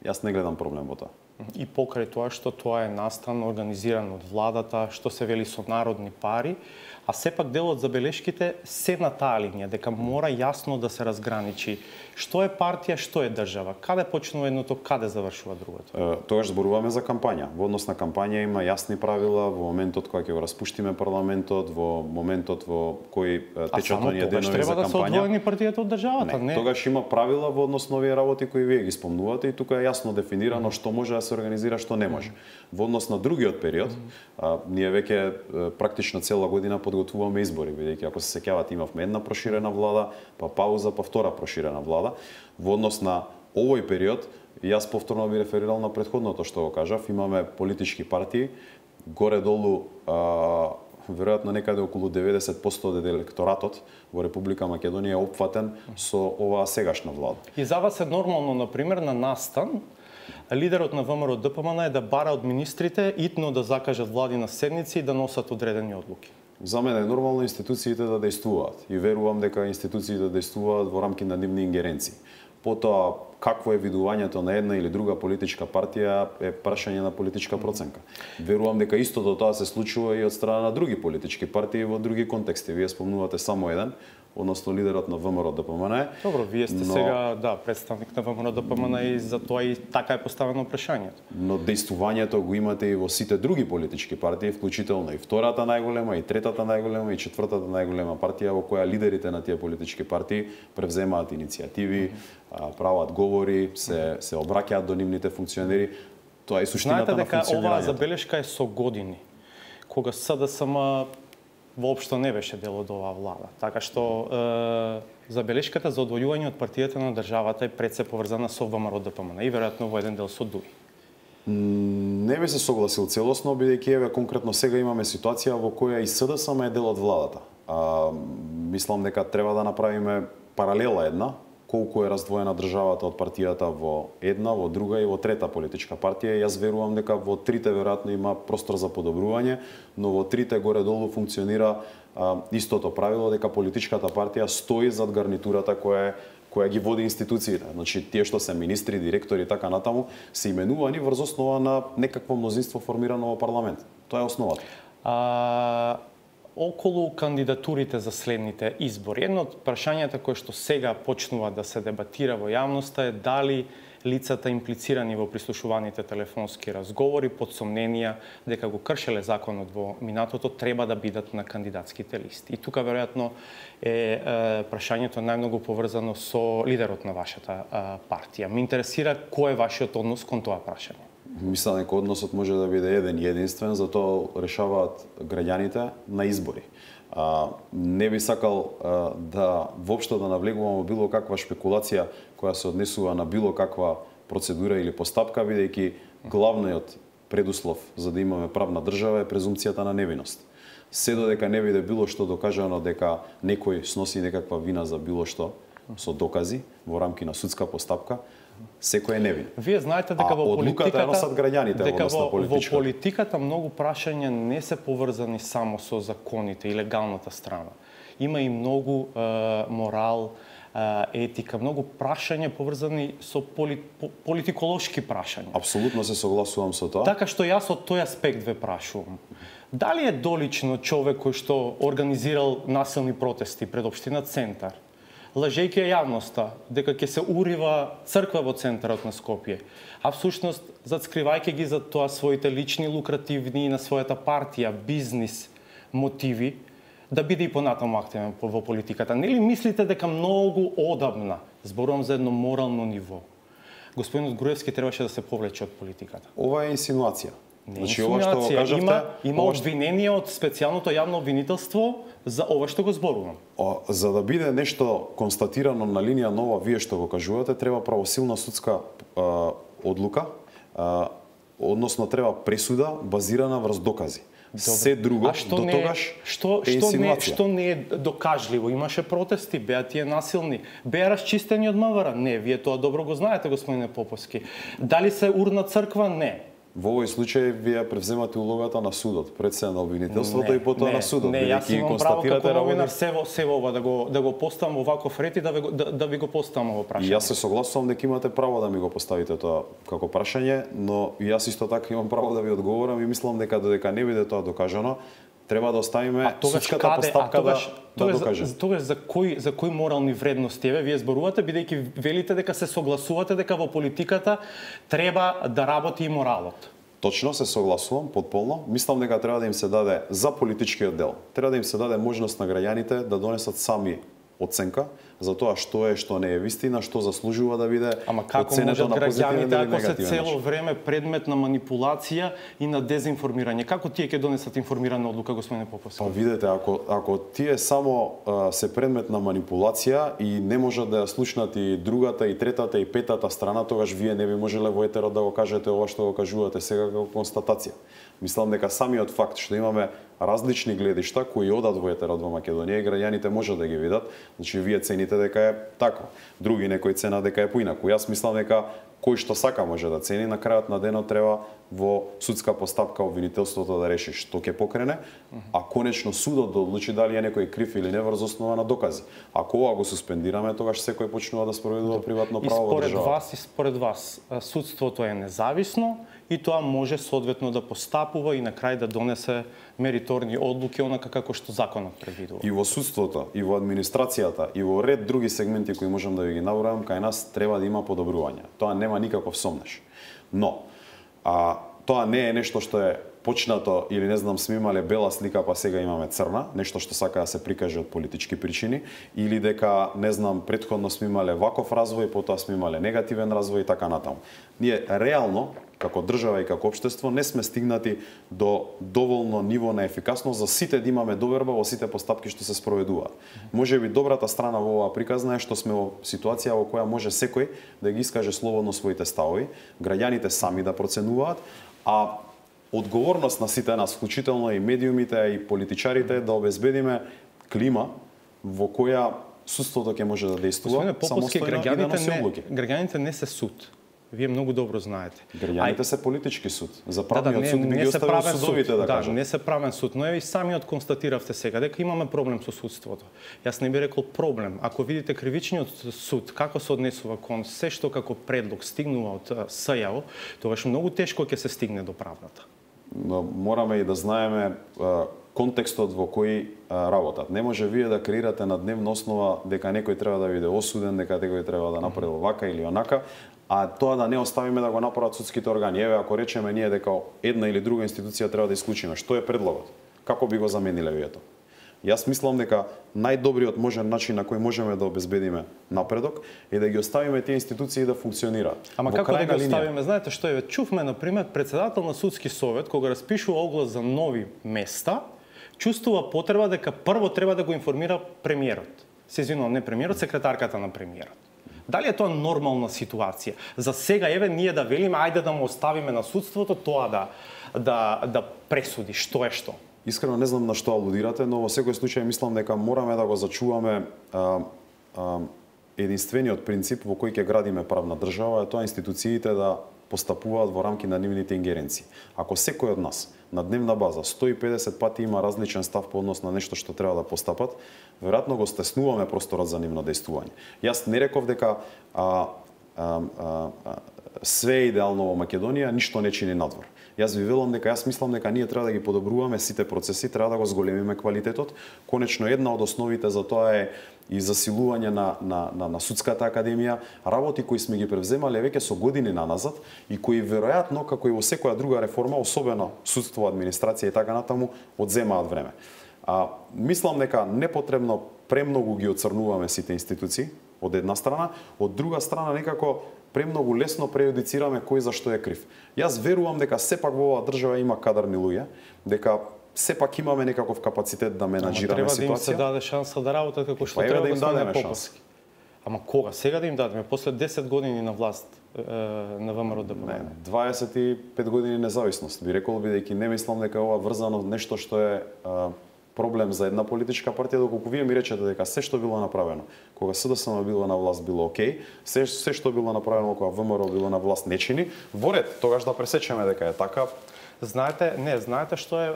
јас не гледам проблем во тоа. И покрај тоа што тоа е настан организиран од владата, што се вели со народни пари, а сепак дел од забелешките се на таа линија, дека мора јасно да се разграничи што е партија, што е држава, каде почнува едното, каде завршува другото. Тогаш зборуваме за кампања. Во однос на кампања има јасни правила во моментот кога ќе го распуштиме парламентот, во моментот во кој течат оние денови за кампања. Треба да се одвоени партијата од државата, не? Тогаш има правила во однос на овие работи кои вие ги спомнувате и тука е јасно дефинирано што може да се организира, што не може. Во однос на другиот период, ние веќе практично цела година подготвуваме избори, бидејќи ако се сеќавате имавме една проширена влада, па пауза, па втора проширена влада. Во однос на овој период, јас повторно би реферирал на претходното што го кажав, имаме политички партии, горе-долу веројатно некаде околу 90% од електоратот во Република Македонија е опфатен со оваа сегашна влада. И за вас е нормално, например, на настан лидерот на ВМРО ДПМН е да бара од министрите итно да закажат влади на седници и да носат одредени одлуки? За мене е нормално институциите да действуваат и верувам дека институциите действуваат во рамки на нивни ингеренции. Потоа, какво е видувањето на една или друга политичка партија е прашање на политичка проценка. Верувам дека истото тоа се случува и од страна на други политички партии во други контексти. Вие спомнувате само еден, односно лидерот на ВМРО ДПМН. Добро, вие сте сега представник на ВМРО ДПМН и за тоа и така е поставено прашањето. Но действувањето го имате и во сите други политички партии, вклучително и втората најголема, и третата најголема, и четвртата најголема партија во која лидерите на тие политички партии превземаат иницијативи, прават говори, се обраќаат до нивните функционери. Тоа е суштината на функционирањето. Знаете дека оваа забелешка е со години, кога СДСМ воопшто не беше дел од оваа влада. Така што забелешката за одвојување од партијата на државата е пред се поврзана со ВМРО ДПМН и веројатно во еден дел со ДУИ. Не би се согласил целосно, бидејќи еве конкретно сега имаме ситуација во која и СДСМ е дел од владата. Мислам дека треба да направиме паралела една, колку е раздвоена државата од партијата во една, во друга и во трета политичка партија. Јас верувам дека во трите веројатно има простор за подобрување, но во трите горе-долу функционира истото правило дека политичката партија стои зад гарнитурата која ги води институциите. Значи, тие што се министри, директори и така натаму, се именувани врз основа на некакво мнозинство формирано во парламент. Тоа е основата. Околу кандидатурите за следните избори, едно од прашањата кои што сега почнува да се дебатира во јавноста е дали лицата имплицирани во прислушуваните телефонски разговори под сомненија дека го кршеле законот во минатото треба да бидат на кандидатските листи. И тука веројатно е прашањето најмногу поврзано со лидерот на вашата партија. Ме интересира кој е вашиот однос кон тоа прашање. Мислам дека односот може да биде еден и единствен, затоа решаваат граѓаните на избори. Не би сакал воопшто да навлегувам во било каква шпекулација која се однесува на било каква процедура или постапка, бидејќи главниот предуслов за да имаме правна држава е презумпцијата на невиност. Се додека не биде било што докажано дека некој сноси некаква вина за било што со докази во рамки на судска постапка, секој е невин. Вие знаете дека во политиката носат граѓаните во политиката многу прашања не се поврзани само со законите и легалната страна. Има и многу морал, етика, многу прашања поврзани со политиколошки прашања. Апсолутно се согласувам со тоа. Така што јас од тој аспект ве прашувам. Дали е долично човек кој што организирал насилни протести пред општина Центар, лажејќи ја јавноста дека ќе се урива црква во центарот на Скопје, а всушност зацкривајќи ги за тоа своите лични лукративни на својата партија, бизнис мотиви, да биде и понатаму активен во политиката. Нели мислите дека многу одамна, зборувам за едно морално ниво, господинот Груевски требаше да се повлече од политиката? Ова е инсинуација. Значи, ова што го кажавте, има обвинение од специјалното јавно обвинителство за ова што го зборувам. За да биде нешто констатирано на линија на ова вие што го кажувате, треба правосилна судска одлука, односно треба пресуда базирана врз докази. Се друго до тогаш е инсинуација. Што не е докажливо? Имаше протести, беа тие насилни, беа расчистени од МВР? Не, вие тоа добро го знаете, господине Поповски. Дали се урна црква? Не. Во овој случај вие превземате улогата на судот, пред се на обвинителството и потоа на судот. Не, јас имам право како новинар се ова да го поставам оваков ред и да ви го поставам ово прашање. Јас се согласувам дека имате право да ми го поставите тоа како прашање, но јас исто така имам право да ви одговорам и мислам дека додека не биде тоа докажано, треба да оставиме судската постапка да докаже. Тогаш за кои морални вредности вие зборувате, бидејќи велите дека се согласувате дека во политиката треба да работи и моралот? Точно се согласувам потполно. Мислам дека треба да им се даде за политичкиот дел. Треба да им се даде можност на граѓаните да донесат сами оценка за тоа што е, што не е вистина, што заслужува да биде оценето на позитивен или негативен начин. Ако се цело време предмет на манипулација и на дезинформирање, како тие ќе донесат информирана одлука, господине Поповски? Па видете, ако тие само се предмет на манипулација и не можат да ја слушнат и другата, и третата, и петата страна, тогаш вие не би можеле во етерот да го кажете ова што го кажувате сега како констатација. Мислам дека самиот факт што имаме различни гледишта кои одат во етерот во Македонија и граѓаните можат да ги видат, значи вие цените дека е така. Други некои цена дека е поинаку. Јас мислам дека кој што сака може да цени, на крајот на денот треба во судска постапка обвинителството да реши што ќе покрене, а конечно судот да одлучи дали е некој крив или не врз основа на докази. Ако ова го суспендираме, тогаш секој почнува да спроведува приватно право во државата. И според вас, судството е независно и тоа може соодветно да постапува и на крај да донесе мериторни одлуки онака како што законот предвидува. И во судството, и во администрацијата, и во ред други сегменти кои можам да ви ги набројам, кај нас треба да има подобрување. Тоа нема никаков сомнеш. Но тоа не е нешто што е почнато или не знам сме имале бела слика па сега имаме црна, нешто што сака да се прикаже од политички причини, или дека не знам претходно сме имале ваков развој, потоа сме имале негативен развој и така натаму. Ние реално како држава и како општество не сме стигнати до доволно ниво на ефикасност за сите да имаме доверба во сите постапки што се спроведуваат. Можеби добрата страна во оваа приказна е што сме во ситуација во која може секој да ги искаже слободно своите ставови, граѓаните сами да проценуваат, а одговорност на сите нас, вклучително и медиумите и политичарите, да обезбедиме клима во која судството ќе може да действува самостојно и да носи одлуки. Граѓаните не се суд. Вие многу добро знаете. Граѓаните се политички суд. За правниот суд би ги оставил судовите да кажат. Не се правен суд, но и самиот констатиравте сега дека имаме проблем со судството. Јас не би рекол проблем. Ако видите кривичниот суд како се однесува кон се што како предлог стигнува од СЈО, тогаш многу тешко ќе се стигне до правдата. Но мораме и да знаеме контекстот во кој работат. Не може вие да креирате на дневна основа дека некој треба да биде осуден, дека некој треба да направи вака или онака, а тоа да не оставиме да го направат судските органи. Еве, ако речеме ние дека една или друга институција треба да исклучиме, што е предлогот? Како би го замениле вие тоа? Јас мислам дека најдобриот можен начин на кој можеме да обезбедиме напредок е да ги оставиме тие институции да функционираат. Ама како да ги оставиме? Знаете што е? Чувме на пример председател на судски совет кога распишува оглас за нови места, чувствува потреба дека прво треба да го информира премиерот. Се извинувам, не премиерот, секретарката на премиерот. Дали е тоа нормална ситуација? За сега еве ние да велиме ајде да му оставиме на судството тоа да пресуди што е што. Искрено не знам на што алудирате, но во секој случај мислам дека мораме да го зачуваме единствениот принцип во кој ќе градиме правна држава, е тоа институциите да постапуваат во рамки на нивните ингеренции. Ако секој од нас на дневна база 150 пати има различен став по однос на нешто што треба да постапат, веројатно го стеснуваме просторот за нивно действување. Јас не реков дека све е идеално во Македонија, ништо не чини надвор. Јас ви велам дека јас мислам дека ние треба да ги подобруваме сите процеси, треба да го зголемиме квалитетот. Конечно, една од основите за тоа е и засилување на судската академија, работи кои сме ги превземале веќе со години наназад и кои веројатно, како и во секоја друга реформа, особено судство, администрација и така натаму, одземаат време. Мислам дека непотребно премногу ги оцрнуваме сите институции, од една страна, од друга страна некако премногу лесно преюдицираме кој за што е крив. Јас верувам дека сепак во оваа држава има кадарни луѓе, дека сепак имаме некаков капацитет да менаџираме ситуација. Треба да им се даде шанса да работат како што треба да им дадеме шанса. Ама кога? Сега да им дадеме? После 10 години на власт на ВМРО ДПМН? 25 години независност. Би рекол, бидејќи не мислам дека ова врзано нешто што е проблем за една политичка партија, доколку вие ми речете дека се што било направено кога СДСМ било на власт било окей, се што било направено кога ВМРО било на власт не чини, во ред, тогаш да пресечеме дека е така. Знаете што е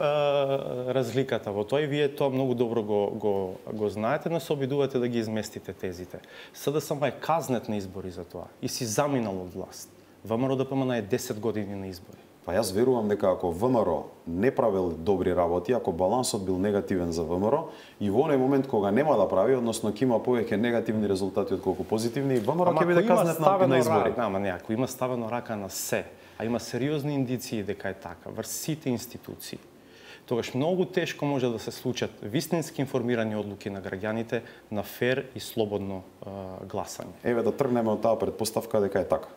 разликата во тоа и вие тоа многу добро го знаете, но се обидувате да ги изместите тезите. СДСМ е казнет на избори за тоа и си заминал од власт. ВМРО ДПМН е 10 години на избори. Па јас верувам дека ако ВМРО не правил добри работи, ако балансот бил негативен за ВМРО и во оној момент кога нема да прави, односно ќе има повеќе негативни резултати отколку позитивни, ВМРО ќе биде казнет на избори. Ако има ставено рака на се, а има сериозни индиции дека е така врз сите институции, тогаш многу тешко може да се случат вистински информирани одлуки на граѓаните на фер и слободно гласање. Еве да тргнеме од таа предпоставка дека е така,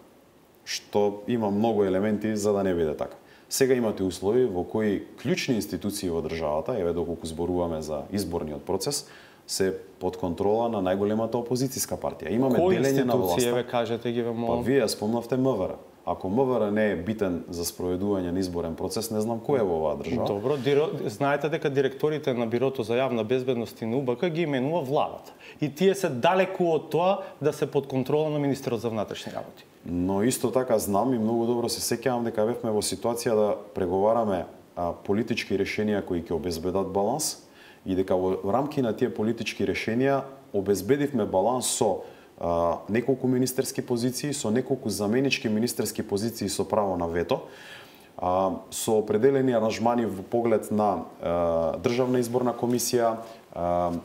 што има многу елементи за да не биде така. Сега имате услови во кои клучни институции во државата, еве доколку зборуваме за изборниот процес, се под контрола на најголемата опозицијска партија. Имаме делење на власта. Кои институции, кажете ги, Па вие спомнавте МВР. Ако МВР не е битен за спроведување на изборен процес, не знам кој е во оваа држава. Добро, знаете дека директорите на Бирото за јавна безбедност и на УБК ги именува владата. И тие се далеку од тоа да се под контрола на министерот за внатрешни работи. Но исто така знам и многу добро се сеќавам дека бевме во ситуација да преговараме политички решенија кои ќе обезбедат баланс и дека во рамки на тие политички решенија обезбедивме баланс со неколку министерски позиции, со неколку заменички министерски позиции со право на вето, со определени аранжмани во поглед на Државна изборна комисија,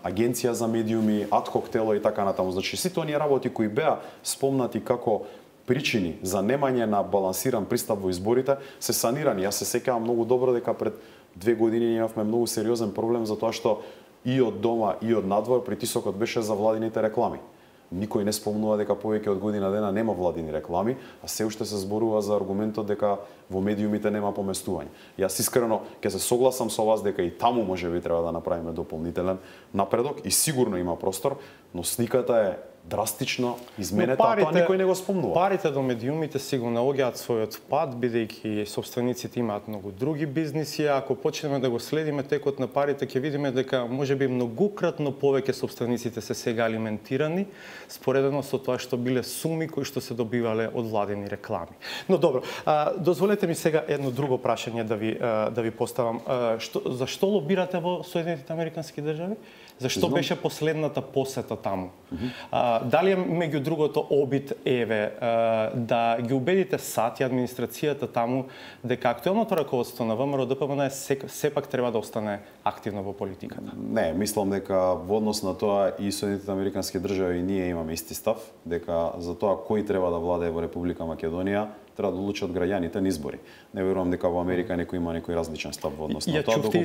Агенција за медиуми, адхок тело и така натаму. Значи, сите оние работи кои беа спомнати како причини за немање на балансиран пристап во изборите се санирани. Јас се сеќавам многу добро дека пред 2 години имавме многу сериозен проблем за тоа што и од дома и од надвор притисокот беше за владините реклами. Никој не спомнува дека повеќе од година дена нема владини реклами, а се уште се зборува за аргументот дека во медиумите нема поместување. Јас искрено ќе се согласам со вас дека и таму можеби треба да направиме дополнителен напредок и сигурно има простор, но сликата е драстично изменета, а тоа никој не го спомнува. Парите до медиумите си го наоѓаат својот пат, бидејќи собствениците имаат многу други бизниси, а ако почнеме да го следиме текот на парите, ќе видиме дека можеби многукратно повеќе собствениците се сега алиментирани, споредено со тоа што биле суми кои што се добивале од владени реклами. Но добро, дозволете ми сега едно друго прашање да ви поставам. Зашто лобирате во Соединетите Американски држави? Зашто беше последната посета таму? Дали е меѓу другото обид да ги убедите САД и администрацијата таму дека актуелното раководство на ВМРО ДПМН сепак треба да остане активно во политиката? Не, мислам дека во однос на тоа и Соединетите Американски држави и ние имаме исти став, дека за тоа кој треба да владее во Република Македонија треба да одлучат граѓаните на избори. Не верувам дека во Америка некој има некој различен став во однос на тоа. Ја чувте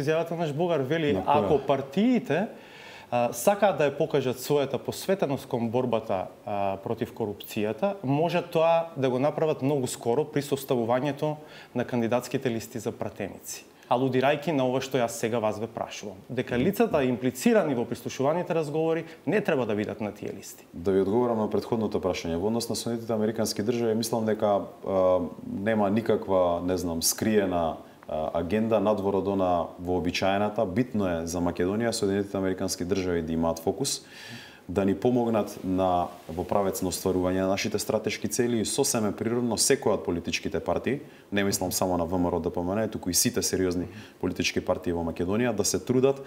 изјавата наш Богар, вели ако партиите сакаат да ја покажат својата посветеност кон борбата против корупцијата, може тоа да го направат многу скоро при составувањето на кандидатските листи за пратеници. Алудирајќи на ова што јас сега вас ве прашувам. Дека лицата имплицирани во прислушуваните разговори не треба да бидат на тие листи. Да ви одговорам на претходното прашање. Во однос на Соединетите Американски држави, мислам дека нема никаква, скриена агенда надвор од она вообичаената. Битно е за Македонија Соединетите Американски држави да имаат фокус, да ни помогнат во правец на остварување на нашите стратешки цели и сосеме природно секоја од политичките партии, не мислам само на ВМРО ДПМН, туку и сите сериозни политички партии во Македонија да се трудат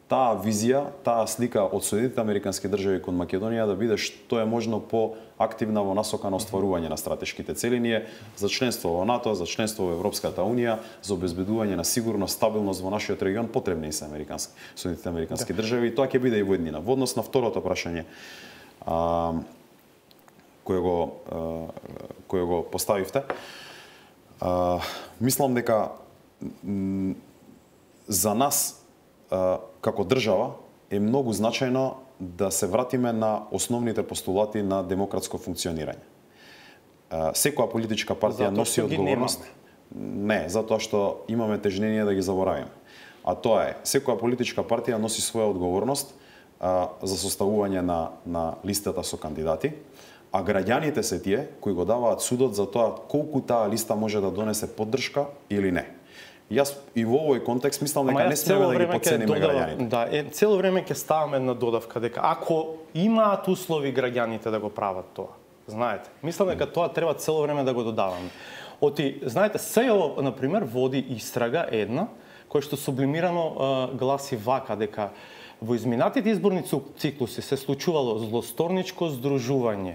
таа визија, таа слика од Соединетите Американски држави кон Македонија да биде што е можно поактивна во насока на остварување на стратешките цели. Ние за членство во НАТО, за членство во Европската унија, за обезбедување на сигурност, стабилност во нашиот регион потребни се Соединетите Американски држави и тоа ќе биде и во еднина. Во однос на второто прашање кое го поставивте, мислам дека за нас како држава е многу значајно да се вратиме на основните постулати на демократско функционирање. Секоја политичка партија носи одговорност. Не, затоа што имаме тежнение да ги заборавиме. А тоа е, секоја политичка партија носи своја одговорност за составување на листата со кандидати, а граѓаните се тие кои го даваат судот за тоа колку таа листа може да донесе поддршка или не. Јас и во овој контекст мислам дека не смеме да ги потцениме граѓаните. Да, цело време ќе ставаме на додавка дека ако имаат услови граѓаните да го прават тоа, знаете, мислам дека тоа треба цело време да го додаваме. Знаете, СЈО, например, води истрага една, која што сублимирано гласи вака, дека во изминатите изборни циклуси се случувало злосторничко здружување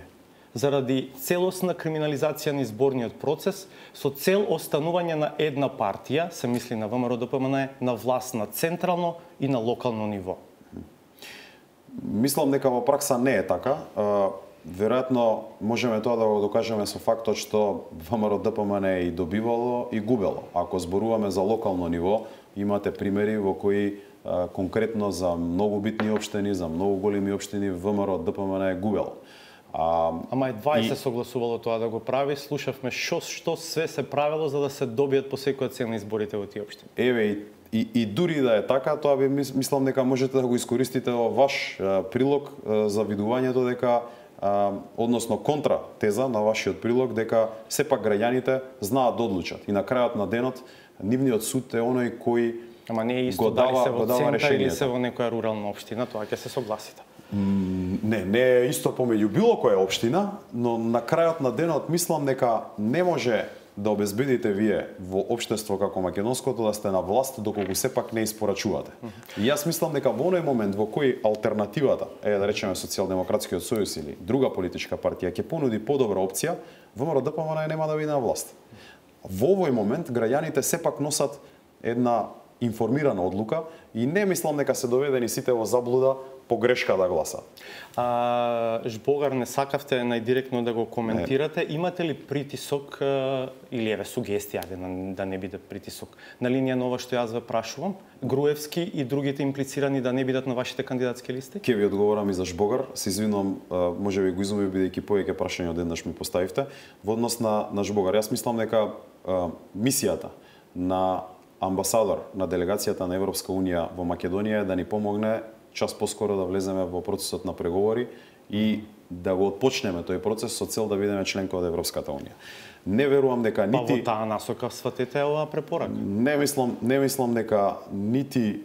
заради целосна криминализација на изборниот процес со цел останување на една партија, се мисли на ВМРО-ДПМН, на власт на централно и на локално ниво. Мислам дека во пракса не е така. Веројатно можеме тоа да го докажеме со фактот што ВМРО-ДПМН е и добивало и губело. Ако зборуваме за локално ниво, имате примери во кои конкретно за многу битни општини, за многу големи општини ВМРО-ДПМН е губело. Ама едва се согласувало тоа да го прави, слушавме што све се правело за да се добијат по секоја цена изборите во тие општини. Еве и дури да е така, тоа би мислам дека можете да го искористите во ваш прилог за видувањето дека односно контра теза на вашиот прилог дека сепак граѓаните знаат да одлучат и на крајот на денот нивниот суд е оној кој Ама не е исто дали се во центар или се во некоја рурална општина, тоа ќе се согласите. Не е исто помеѓу било која општина, но на крајот на денот мислам дека не може да обезбедите вие во општество како македонското да сте на власт доколку сепак не испорачувате. И јас мислам дека во оној момент во кој алтернативата, да речеме Социјалдемократскиот сојуз или друга политичка партија ќе понуди подобра опција, ВМРО-ДПМН нема да биде на власт. Во овој момент граѓаните сепак носат една информирана одлука и не мислам дека се доведени сите во заблуда по грешка да гласат. Жбогар, не сакавте најдиректно да го коментирате. Имате ли притисок или еве сугестија да не биде притисок на линија на ова што јас ве прашувам? Груевски и другите имплицирани да не бидат на вашите кандидатски листи? Ке ви одговорам и за Жбогар. Се извинувам, можеби го изумив бидејќи повеќе прашања одеднаш ми поставивте. Во однос на Жбогар, јас мислам дека мисијата на амбасадор на делегацијата на Европска Унија во Македонија е да ни помогне час поскоро да влеземе во процесот на преговори и да го отпочнеме тој процес со цел да бидеме членка од Европската Унија. Не верувам дека нити во таа насока сватете оваа препорака. Не мислам дека нити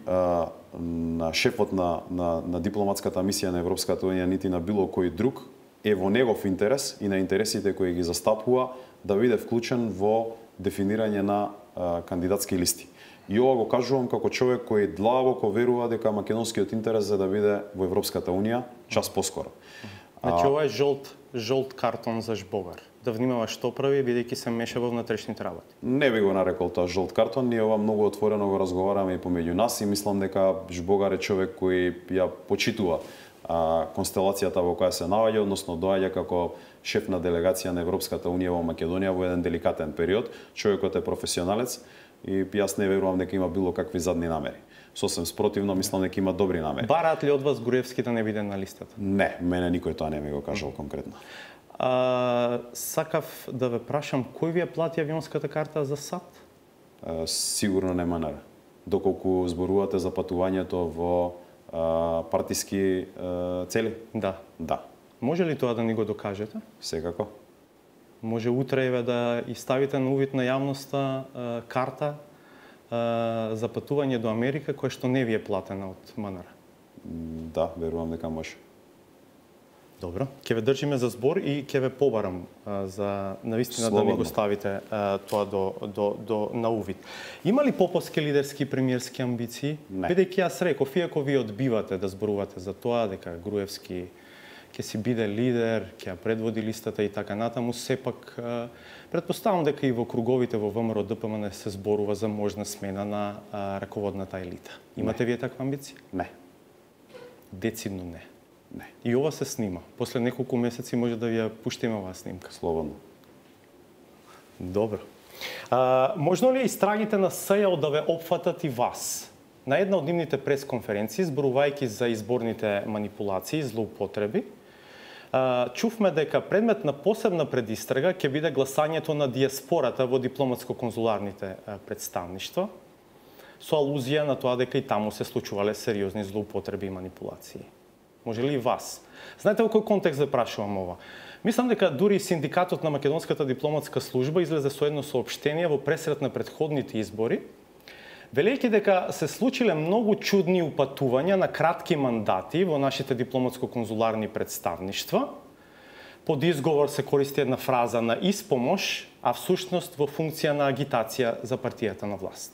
на шефот на дипломатската мисија на Европската Унија, нити на било кој друг е во негов интерес и на интересите кои ги застапува да биде вклучен во дефинирање на кандидатски листи. И ова го кажувам како човек кој длабоко верува дека македонскиот интерес е да биде во Европската Унија час поскоро. Значи ова е жолт картон за Жбогар. Да внимава што прави бидејќи се меша во внатрешните работи. Не би го нарекол тоа жолт картон, ние ова многу отворено го разговараме и помеѓу нас и мислам дека Жбогар е човек кој ја почитува констелацијата во која се наоѓа, односно доаѓа како шеф на делегација на Европската Унија во Македонија во еден деликатен период. Човекот е професионалец и јас не верувам дека има било какви задни намери. Сосем спротивно, мислам дека има добри намери. Бараат ли од вас Груевски да не биде на листата? Не, мене никој тоа не ми го кажал конкретно. Сакав да ве прашам, кој ви ја плати авионската карта за САД? Сигурно не МНР. Доколку зборувате за патувањето во партиски цели? Да. Може ли тоа да ни го докажете? Секако. Може утре еве да ставите на увид на јавноста карта за патување до Америка која што не ви е платена од МНР? Да, верувам дека може. Добро, ќе ве држиме за збор и ќе ве побарам за навистина да ми го ставите тоа на увид. Има ли поповски лидерски премиерски амбиции? Бидејќи јас реков, иако ви одбивате да зборувате за тоа дека Груевски ќе си биде лидер, ќе ја предводи листата и така натаму, сепак претпоставам дека и во круговите во ВМРО-ДПМН се зборува за можна смена на раководната елита. Имате вие таква амбиција? Не. Децидно не. Не. И ова се снима. После неколку месеци може да ви ја пуштиме оваа снимка. Слободно. Добро. Можно ли истрагите на СЈО да ве опфатат и вас? На една од нивните пресконференции, зборувајќи за изборните манипулации и злоупотреби, чувме дека предмет на посебна предистрага ќе биде гласањето на диаспората во дипломатско-конзуларните представништва, со алузија на тоа дека и таму се случувале сериозни злоупотреби и манипулации. Може ли и вас? Знаете во кој контекст да прашувам ова? Мислам дека дури синдикатот на Македонската дипломатска служба излезе со едно соопштение во пресрет на претходните избори, велејќи дека се случиле многу чудни упатувања на кратки мандати во нашите дипломатско-конзуларни представништва. Под изговор се користи една фраза на испомош, а всушност во функција на агитација за партијата на власт.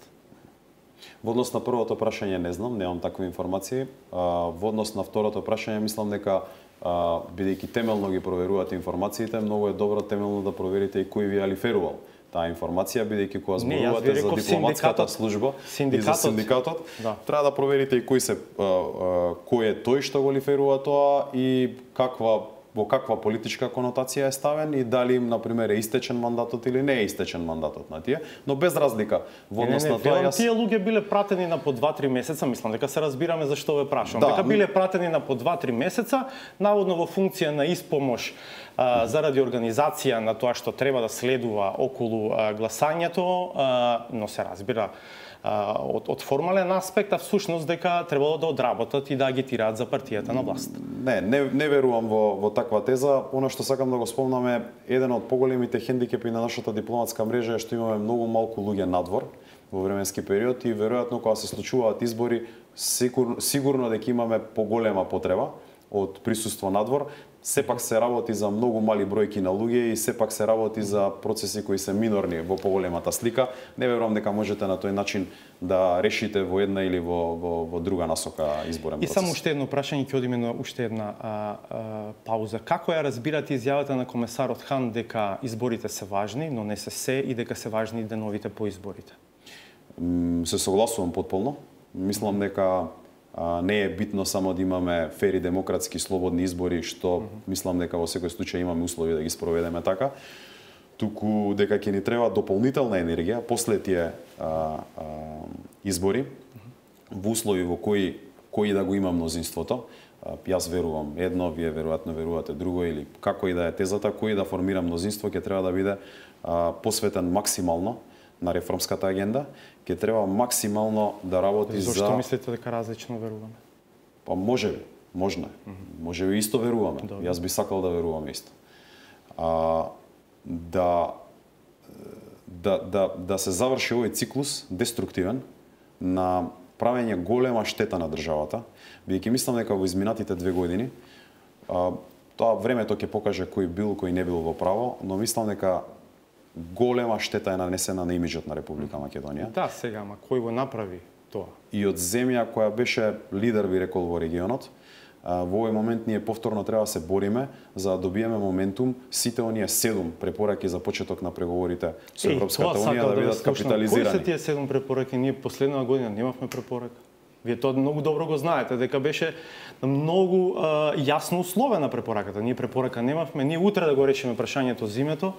Во однос на првото прашање не знам, немам такви информации. Во однос на второто прашање мислам дека бидејќи темелно ги проверувате информациите, многу е добро темелно да проверите и кој ви е алиферувал таа информација, бидејќи кога зборувате за дипломатската служба и за синдикатот, треба да проверите и кој е тој што го алиферува тоа и во каква политичка конотација е ставен и дали им, например, е истечен мандатот или не е истечен мандатот на тие, но без разлика во однос на тоа тие луѓе биле пратени на по 2-3 месеца, мислам дека се разбираме зашто ве прашувам. Дека биле пратени на по 2-3 месеца, наводно во функција на испомош заради организација на тоа што треба да следува околу гласањето, но се разбира од формален аспект, а всушност дека требало да одработат и да агитираат за партијата на власт. Не верувам во таква теза. Она што сакам да го спомнам е еден од поголемите хендикепи на нашата дипломатска мрежа е што имаме многу малку луѓе надвор во временски период и веројатно кога се случуваат избори сигурно дека имаме поголема потреба од присуство надвор. Сепак се работи за многу мали бројки на луѓе и сепак се работи за процеси кои се минорни во поголемата слика. Не верувам дека можете на тој начин да решите во една или во друга насока изборен процес. И само уште едно прашање, ќе одиме на уште една пауза. Како ја разбирате изјавата на комесарот Хан дека изборите се важни, но не се и дека се важни деновите по изборите? Се согласувам потполно. Мислам дека не е битно само да имаме фери, демократски, слободни избори, што мислам дека во секој случај имаме услови да ги спроведеме така, туку дека ќе ни треба дополнителна енергија после тие избори, во услови во кои да го има мнозинството. Јас верувам едно, вие веројатно верувате друго, или како и да е тезата, кој да формира мнозинство ќе треба да биде посветен максимално на реформската агенда, ќе треба максимално да работи за... Зошто мислите дека различно веруваме? Па можеби, можно е. Можеби исто веруваме. Јас би сакал да веруваме исто. Да се заврши овој циклус деструктивен на правење голема штета на државата, бидејќи мислам дека во изминатите 2 години тоа времето ќе покаже кој бил, кој не бил во право, но мислам дека голема штета е нанесена на имиџот на Република Македонија. Да, сега, ама кој го направи тоа? И од земја која беше лидер, би рекол, во регионот, во овој момент ние повторно треба да се бориме за да добиеме моментум сите оние 7 препораки за почеток на преговорите со Европската унија да бидат капитализирани. Кои се тие 7 препораки? Ние последна година немавме препорака. Вие тоа многу добро го знаете, дека беше многу јасно условена препораката. Ние препорака немавме, ние утре да го решиме прашањето зимето,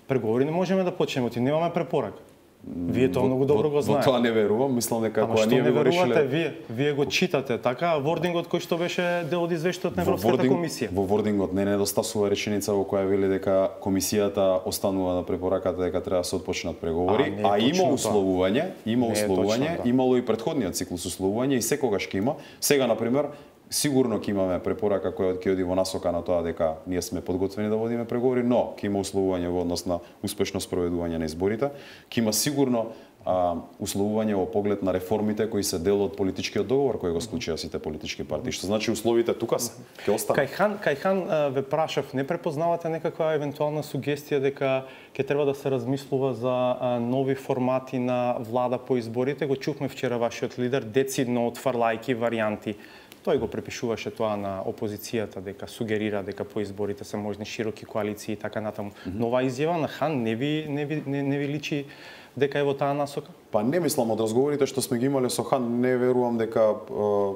преговори не можеме да почнеме, немаме препорака. Вие тоа многу добро го знаете. Во тоа не верувам, мислам дека кога ние го решиле... Вие го читате така, вордингот кој што беше дел од извештајот на Европската комисија. Во вордингот не недостасува реченица во која вели дека комисијата останува на препораката дека треба да се отпочнат преговори, има условување, имало и претходниот циклус условување и секогаш ќе има. Сега на пример сигурно ќе имаме препорака која ќе оди во насока на тоа дека ние сме подготвени да водиме преговори, но ќе има условување во однос на успешно спроведување на изборите, ќе има сигурно условување во поглед на реформите кои се дел од политичкиот договор кој го склучија сите политички партии, што значи условите тука се, ќе останат. Кај Хан ве прашав, не препознавате некаква евентуална сугестија дека ќе треба да се размислува за нови формати на влада по изборите? Го чувме вчера вашиот лидер децидно отфрлајки варијанти. Тој го препишуваше тоа на опозицијата, дека сугерира дека по изборите се можни широки коалиции и така натаму. Но оваа изјава на Хан не ви личи дека е во таа насока? Па не мислам, од разговорите што сме ги имале со Хан, не верувам дека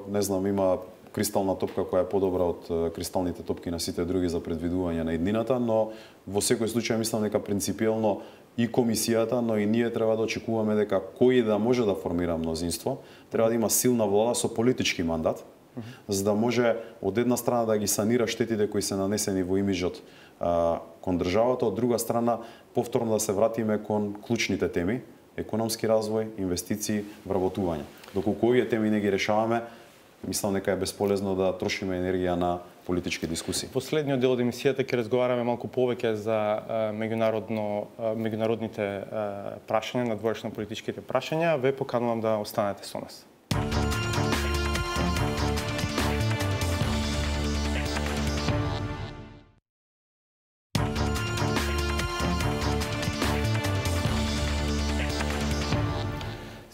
не знам, има кристална топка која е подобра од кристалните топки на сите други за предвидување на иднината, но во секој случај мислам дека принципиелно и комисијата, но и ние треба да очекуваме дека кој да може да формира мнозинство, треба да има силна влада со политички мандат, за да може од една страна да ги санира штетите кои се нанесени во имиџот кон државата, од друга страна повторно да се вратиме кон клучните теми, економски развој, инвестиции, вработување. Доколку овие теми не ги решаваме, мислам дека е бесполезно да трошиме енергија на политички дискусии. Последниот дел од емисијата ќе разговараме малку повеќе за меѓународните прашања, надворешно политичките прашања. Ве поканувам да останете со нас.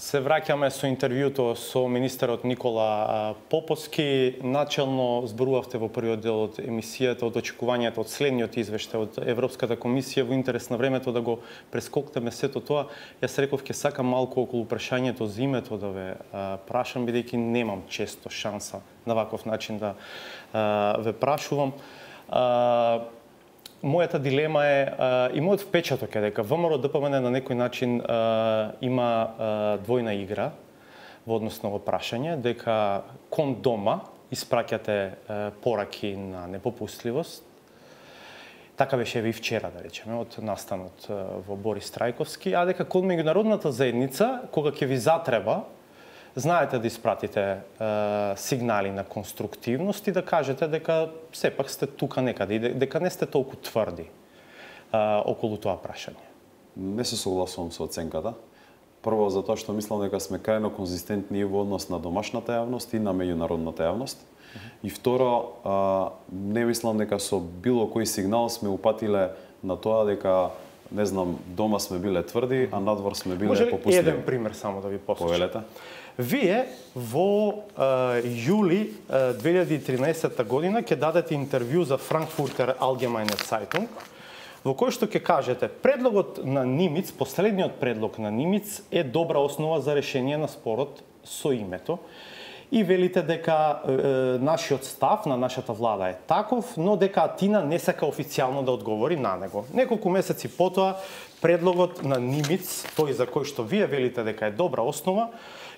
Се враќаме со интервјуто со министерот Никола Поповски. Начелно зборувавте во првиот дел од емисијата од очекувањата од следниот извештај од Европската комисија. Во интерес на времето да го прескокнеме сето тоа, јас реков ќе сакам малку околу прашањето за името да ве прашам, бидејќи немам често шанса на ваков начин да ве прашувам. Мојата дилема е и мојот впечаток е дека ВМРО ДПМН на некој начин има двојна игра во однос на ово прашање, дека кон дома испраќате пораки на непопустливост. Така беше и вчера, да речеме, од настанот во Борис Трајковски, а дека кон меѓународната заедница, кога ќе ви затреба, знаете да испратите сигнали на конструктивност и да кажете дека сепак сте тука некаде, дека не сте толку тврди околу тоа прашање. Не се согласувам со оценката. Прво, затоа што мислам дека сме крајно конзистентни во однос на домашната јавност и на меѓународната јавност. И второ, не мислам дека со било кој сигнал сме упатиле на тоа дека не знам, дома сме биле тврди, а надвор сме биле попустливи. Може еден пример само да ви посочам. Повелете. Вие во јули 2013 година ќе дадете интервју за Frankfurter Allgemeine Zeitung, во кој што ќе кажете предлогот на Нимиц, последниот предлог на Нимиц е добра основа за решение на спорот со името. И велите дека нашиот став на нашата влада е таков, но дека Атина не сака официјално да одговори на него. Неколку месеци потоа предлогот на Нимиц, тој за кој што вие велите дека е добра основа,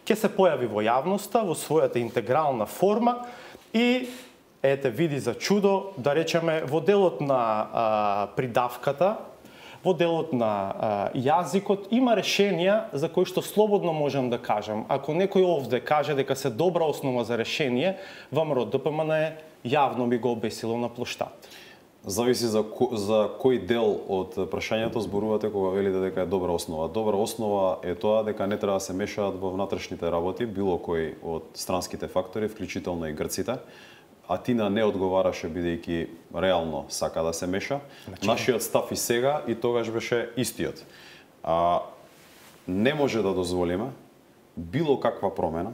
ќе се појави во јавноста во својата интегрална форма и ете види за чудо, да речеме во делот на придавката, во делот на јазикот има решенија за кои што слободно можам да кажам. Ако некој овде каже дека се добра основа за решение, ВМРО ДПМН јавно би го обесило на плоштад. Зависи за кој дел од прашањето зборувате кога велите дека е добра основа. Добра основа е тоа дека не треба да се мешаат во внатрешните работи било кој од странските фактори, вклучително и грците. Атина не одговараше бидејќи реално сака да се меша. Нашиот став и сега и тогаш беше истиот. Не може да дозволиме било каква промена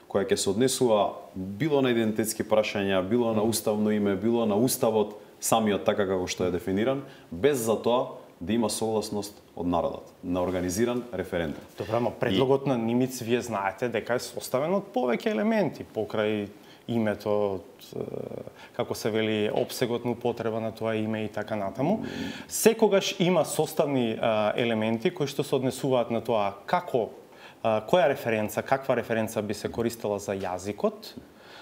која ќе се однесува било на идентитетски прашања, било на уставно име, било на уставот самиот така како што е дефиниран, без за тоа да има согласност од народот на организиран референдум. Добра, ама предлогот на Нимиц вие знаете дека е составен од повеќе елементи покрај името, како се вели, опсегот на употреба на тоа име и така натаму. Секогаш има составни елементи кои што се однесуваат на тоа како, која референца, каква референца би се користела за јазикот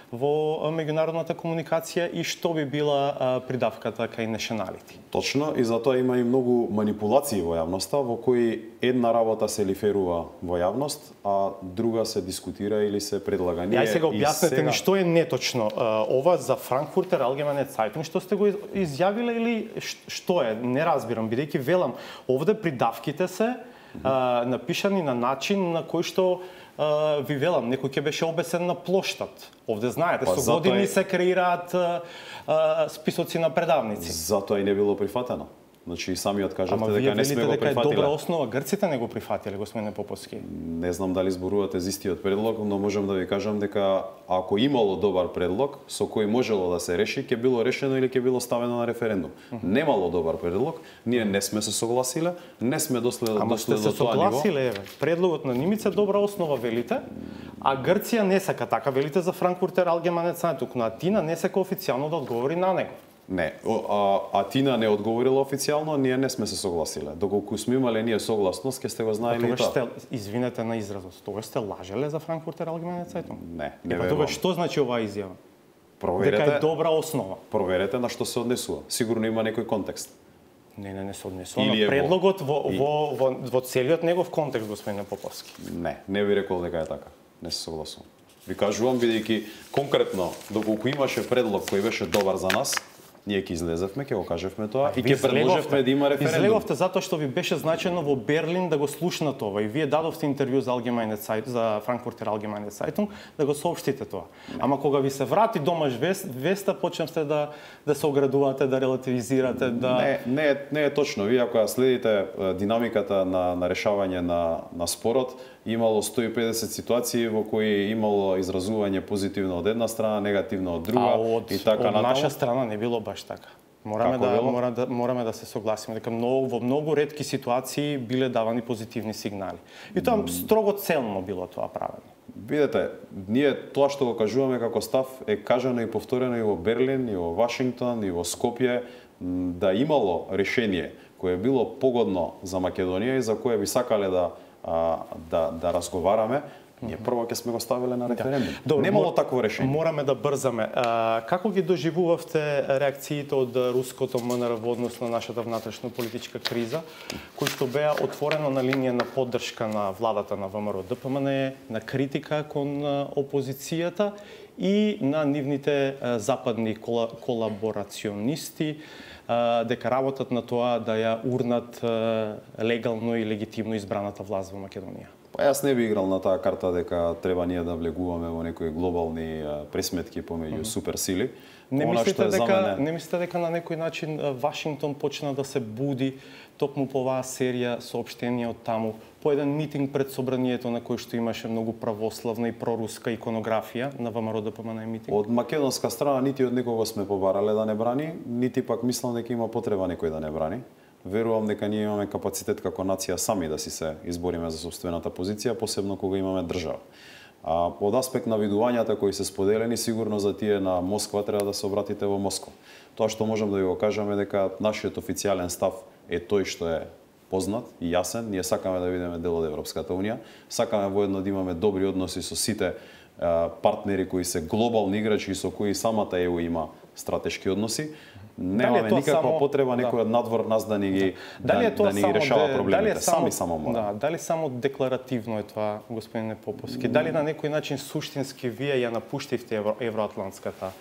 во меѓународната комуникација и што би била придавката кај nationality. Точно, и затоа има и многу манипулации во јавноста, во кои една работа се лиферува во јавност, а друга се дискутира или се предлага. Ја сега објаснете ми што е неточно. Ова за Frankfurter Allgemeine Zeitung што сте го изјавиле или што е? Не разбирам, бидејќи велам, овде придавките се напишани на начин на кој што ви велам, некој ќе беше обесен на плоштад. Овде знаете, со години се креираат списоци на предавници. Затоа и не било прифатено. Значи самиот кажавте дека не сме го прифатиле. Дека е добра основа, грците не го прифатиле, господине Поповски. Не знам дали зборувате за истиот предлог, но можам да ви кажам дека ако имало добар предлог со кој можело да се реши, ќе било решено или ќе било ставено на референдум. Немало добар предлог, ние не сме се согласиле, не сме дошле до тоа ниво. Ама сте се согласиле, еве. Предлогот на Нимица добра основа велите, а Грција не сака така, велите за Frankfurter Allgemeine Zeitung, но Атина не сака официјално да одговори на него. Не, Атина не одговорила официјално, ние не сме се согласиле. Доколку сме имале ние согласност, ќе сте го знаеле и тоа. Извинете на изразот, тогаш сте лажеле за Frankfurter Allgemeine Zeitung? Не верувам. Тогаш што значи оваа изјава? Проверете. Дека е добра основа. Проверете на што се однесува. Сигурно има некој контекст. Не се однесува. Предлогот во целиот негов контекст, господине Поповски. Не би рекол дека е така. Не се согласувам. Ви кажувам, бидејќи конкретно, доколку имаше предлог кој беше добар за нас, ние ќе излезевме, ќе го кажевме тоа и ќе предложевме да има референдум. Излеговте затоа што ви беше значено во Берлин да го слушнат ова и вие дадовте интервју за Allgemeine Zeitung, за Frankfurter Allgemeine Zeitung да го соопштите тоа. Ама кога ви се врати домаш веста, почнавте да се оградувате, да релативизирате, да Не е точно. Вие ако следите динамиката на решавање на спорот, имало 150 ситуации во кои имало изразување позитивно од една страна, негативно од друга и така натаму. Од наша страна не било баш така. Мораме да се согласиме дека во многу ретки ситуации биле давани позитивни сигнали. И тоа строго целно било тоа правено. Видете, ние тоа што го кажуваме како став е кажано и повторено и во Берлин, и во Вашингтон, и во Скопје, да имало решение кое било погодно за Македонија и за кое би сакале да разговараме, ние прво ќе сме го ставиле на референдум. Немало такво решение. Мораме да брзаме. Како ги доживувавте реакциите од руското МНР во однос на нашата внатрешно политичка криза, кои што беа отворено на линија на поддршка на владата на ВМРО ДПМН, на критика кон опозицијата и на нивните западни колаборационисти, дека работат на тоа да ја урнат легално и легитимно избраната власт во Македонија? Јас не би играл на таа карта дека треба ние да влегуваме во некои глобални пресметки помеѓу суперсили. Не мислите дека на некој начин Вашингтон почна да се буди токму по оваа серија соопштенија од таму, по еден митинг пред собранието на кој што имаше многу православна и проруска иконографија на ВМРО ДПМН митинг? Од македонска страна нити од некого сме побарале да не брани, нити пак мислам дека има потреба некој да не брани. Верувам дека ние имаме капацитет како нација сами да си се избориме за собствената позиција, посебно кога имаме држава. Од аспект на видувањата кои се споделени, сигурно за тие на Москва треба да се обратите во Москва. Тоа што можам да ви го кажам е дека нашиот официјален став е тој што е познат и јасен. Ние сакаме да бидеме дел од Европската унија, сакаме воедно да имаме добри односи со сите партнери кои се глобални играчи и со кои самата ЕУ има стратешки односи. Немаме никаква потреба некој од надвор нас да ни ги решава проблемите. Само мора. Дали само декларативно е тоа, господине Поповски? Дали на некој начин суштински вие ја напуштивте евроатлантската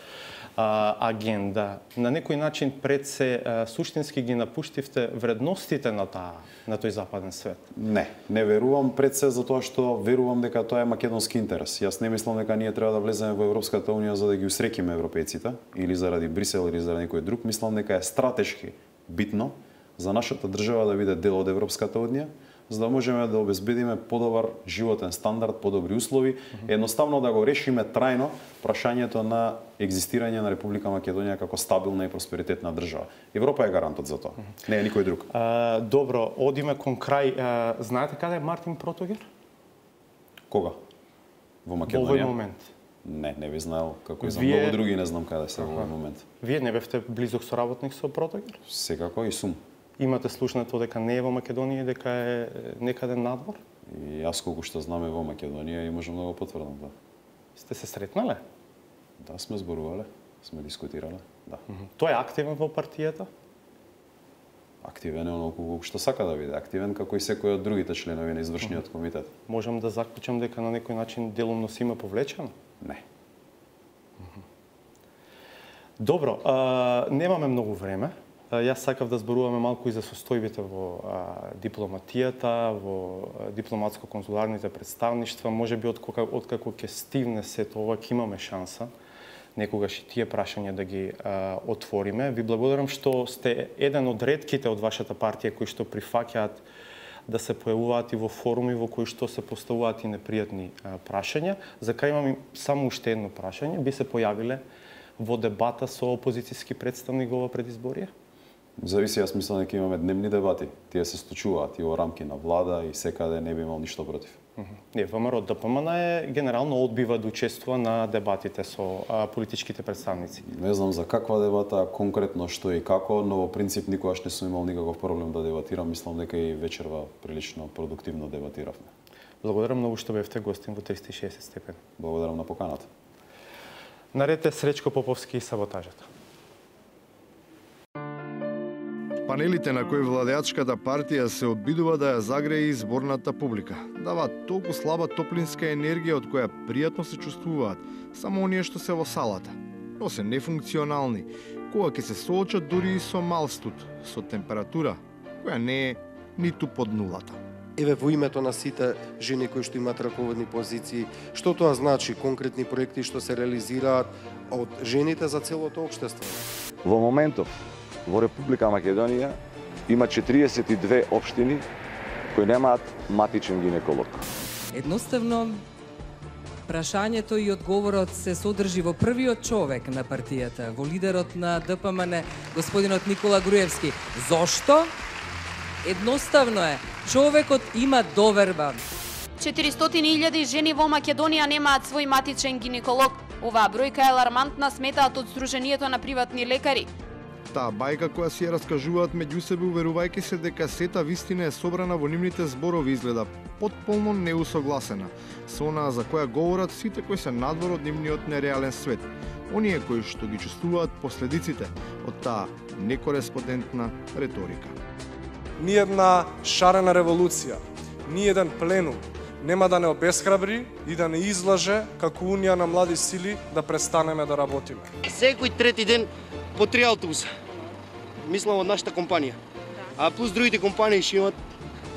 агенда? На некој начин пред се суштински ги напуштивте вредностите на тој западен свет? Не верувам пред се затоа што верувам дека тоа е македонски интерес. Јас не мислам дека ние треба да влеземе во Европската унија за да ги усрекиме европејците или заради Брисел или заради некој друг. Мислам дека е стратешки битно за нашата држава да биде дел од Европската унија, за да можеме да обезбедиме подобар животен стандард, подобри услови, едноставно да го решиме трајно прашањето на екзистирање на Република Македонија како стабилна и просперитетна држава. Европа е гарантот за тоа, не е никој друг. Добро, одиме кон крај. Знаете каде е Мартин Протогер? Кога? Во Македонија? Во овој момент. Не би знаел, како и за многу други не знам каде се во овој момент. Вие не бевте близок соработник со Протогер? Секако и сум. Имате слушнато дека не е во Македонија и дека е некаде надвор? И јас колку што знам е во Македонија и можам да го потврдам, да. Сте се сретнале? Да, сме зборувале, сме дискутирале, да. Тој е активен во партијата? Активен е оноку колку што сака да биде, активен како и секој од другите членови на извршниот комитет. Можам да заклучам дека на некој начин делумно си има повлечено? Не. Добро, немаме многу време. Јас сакав да зборуваме малку и за состојбите во дипломатијата, во дипломатско-консуларните представништва. Можеби откако ќе стивне сето ова, ќе имаме шанса некогаш и тие прашања да ги отвориме. Ви благодарам што сте еден од ретките од вашата партија кои што прифаќаат да се појавуваат и во форуми во кои што се поставуваат и непријатни прашања. За крај имам само уште едно прашање. Би се појавиле во дебата со опозицијски представник во ова предизборие? Зависи, јас мислам дека имаме дневни дебати. Тие се случуваат и во рамки на влада и секаде не би имал ништо против. Не, ВМРО ДПМН генерално одбива да учествува на дебатите со политичките представници. Не знам за каква дебата, конкретно што и како, но во принцип никогаш не сум имал никаков проблем да дебатирам. Мислам дека и вечерва прилично продуктивно дебатиравме. Благодарам многу што бевте гостин во 360 степени. Благодарам на поканата. Наред е Сречко Поповски и саботажата. Панелите на кои владеачката партија се обидува да ја загрее изборната публика. Дава толку слаба топлинска енергија од која пријатно се чувствуваат само оние што се во салата. Но се нефункционални, кога ќе се соочат дури и со мал студ, со температура која не е ниту под нулата. Еве во името на сите жени кои што имаат раководни позиции, што тоа значи конкретни проекти што се реализираат од жените за целото општество? Во моментов во Република Македонија има 42 општини кои немаат матичен гинеколог. Едноставно, прашањето и одговорот се содржи во првиот човек на партијата, во лидерот на ДПМН, господинот Никола Груевски. Зошто? Едноставно е, човекот има доверба. 400.000 жени во Македонија немаат свој матичен гинеколог. Оваа бројка е алармантна, сметаат од Сдруженијето на приватни лекари. Таа бајка која си ја раскажуваат меѓу себе, уверувајќи се дека сета вистина е собрана во нивните зборови, изгледа потполно неусогласена со онаа за која говорат сите кои се надвор од нивниот нереален свет. Оние кои што ги чувствуваат последиците од таа некореспондентна реторика. Ни една шарена револуција, ни еден пленум нема да не обесхрабри и да не излаже како Унија на млади сили да престанеме да работиме. Секој трети ден по 3 автобуса. Мислам од нашата компанија. А плюс другите компании ќе имат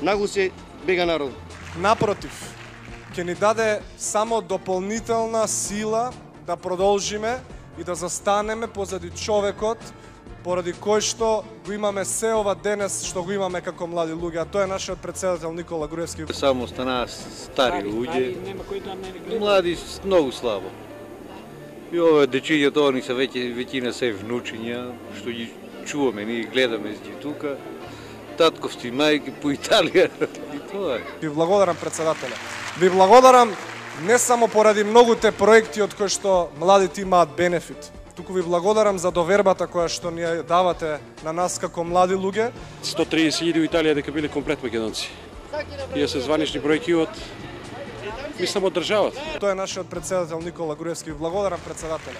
нагласе бега народ. Напротив, ќе ни даде само дополнителна сила да продолжиме и да застанеме позади човекот поради кој што го имаме се ова денес што го имаме како млади луѓе, а тоа е нашиот претседател Никола Груевски. Само станаа стари луѓе, млади многу слабо. И ова дечињата, они се веќина се внучиња, што ги чуваме, ние гледаме ги тука, татковски мајки по Италија, и тоа е. Ви благодарам, председателе. Ви благодарам не само поради многуте проекти од кои што младите имаат бенефит, туку ви благодарам за довербата која што ни ја давате на нас како млади луѓе. 130.000 у Италија дека биле комплет македонци. Тие се званични бројки од мислам од државата. Тоа е нашиот претседател Никола Груевски. Ви благодарам, председателе.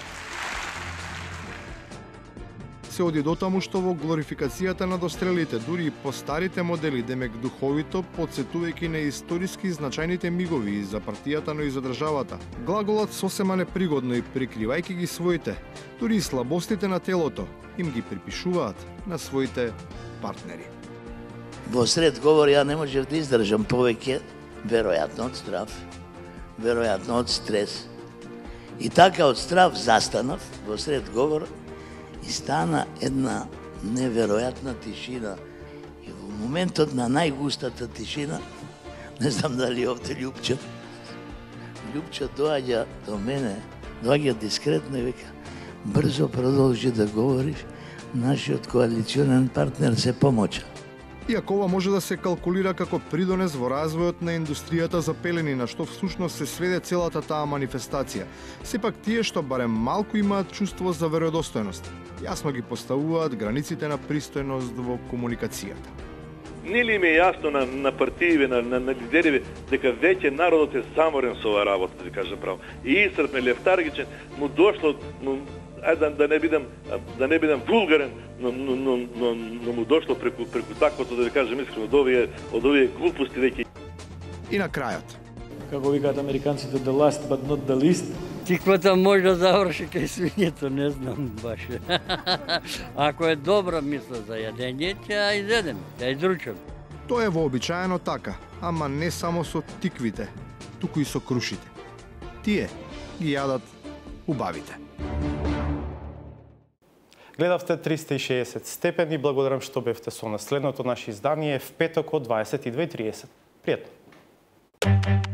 Се оди до таму што во глорификацијата на дострелите, дури и по старите модели, демек духовито, подсетувајќи на историски значајните мигови и за партијата, но и за државата. Глаголот сосема непригодно и прикривајќи ги своите, дури и слабостите на телото, им ги припишуваат на своите партнери. Во сред говор ја не можев да издржам повеќе, веројатно од страв, веројатно од стрес. И така од страв застанав во сред говор и стана една неверојатна тишина. И во моментот на најгустата тишина, не знам дали овде Љупчо доаѓа до мене, доаѓа дискретно и века, брзо продолжи да говориш, нашиот коалиционен партнер се помоча. Иако ова може да се калкулира како придонес во развојот на индустријата за пелени, на што всушност се сведе целата таа манифестација, сепак тие што барем малку имаат чувство за веројдостојност, јасно ги поставуваат границите на пристојност во комуникацијата. Не ли им е јасно на партијеве, на лидериве, дека веќе народот е саморен со оваа работа, да кажа право. И исцрпен, лефтаргичен, му дошло, да не бидам вулгарен, но му дошло преку таквото, да ви кажем искрено, од овие глупости веќе. И на крајот. Како викаат американците, the last but not the least. Тиквата може да заврши кај свињето, не знам баш. Ако е добра мисла за јадење, ќе ја изедем, ќе ја изручам. Тоа е вообичаено така, ама не само со тиквите, туку и со крушите. Тие ги јадат убавите. Гледавте 360 степени, благодарам што бевте со нас. Следното наше издание е в петок од 22:30. Пријатно!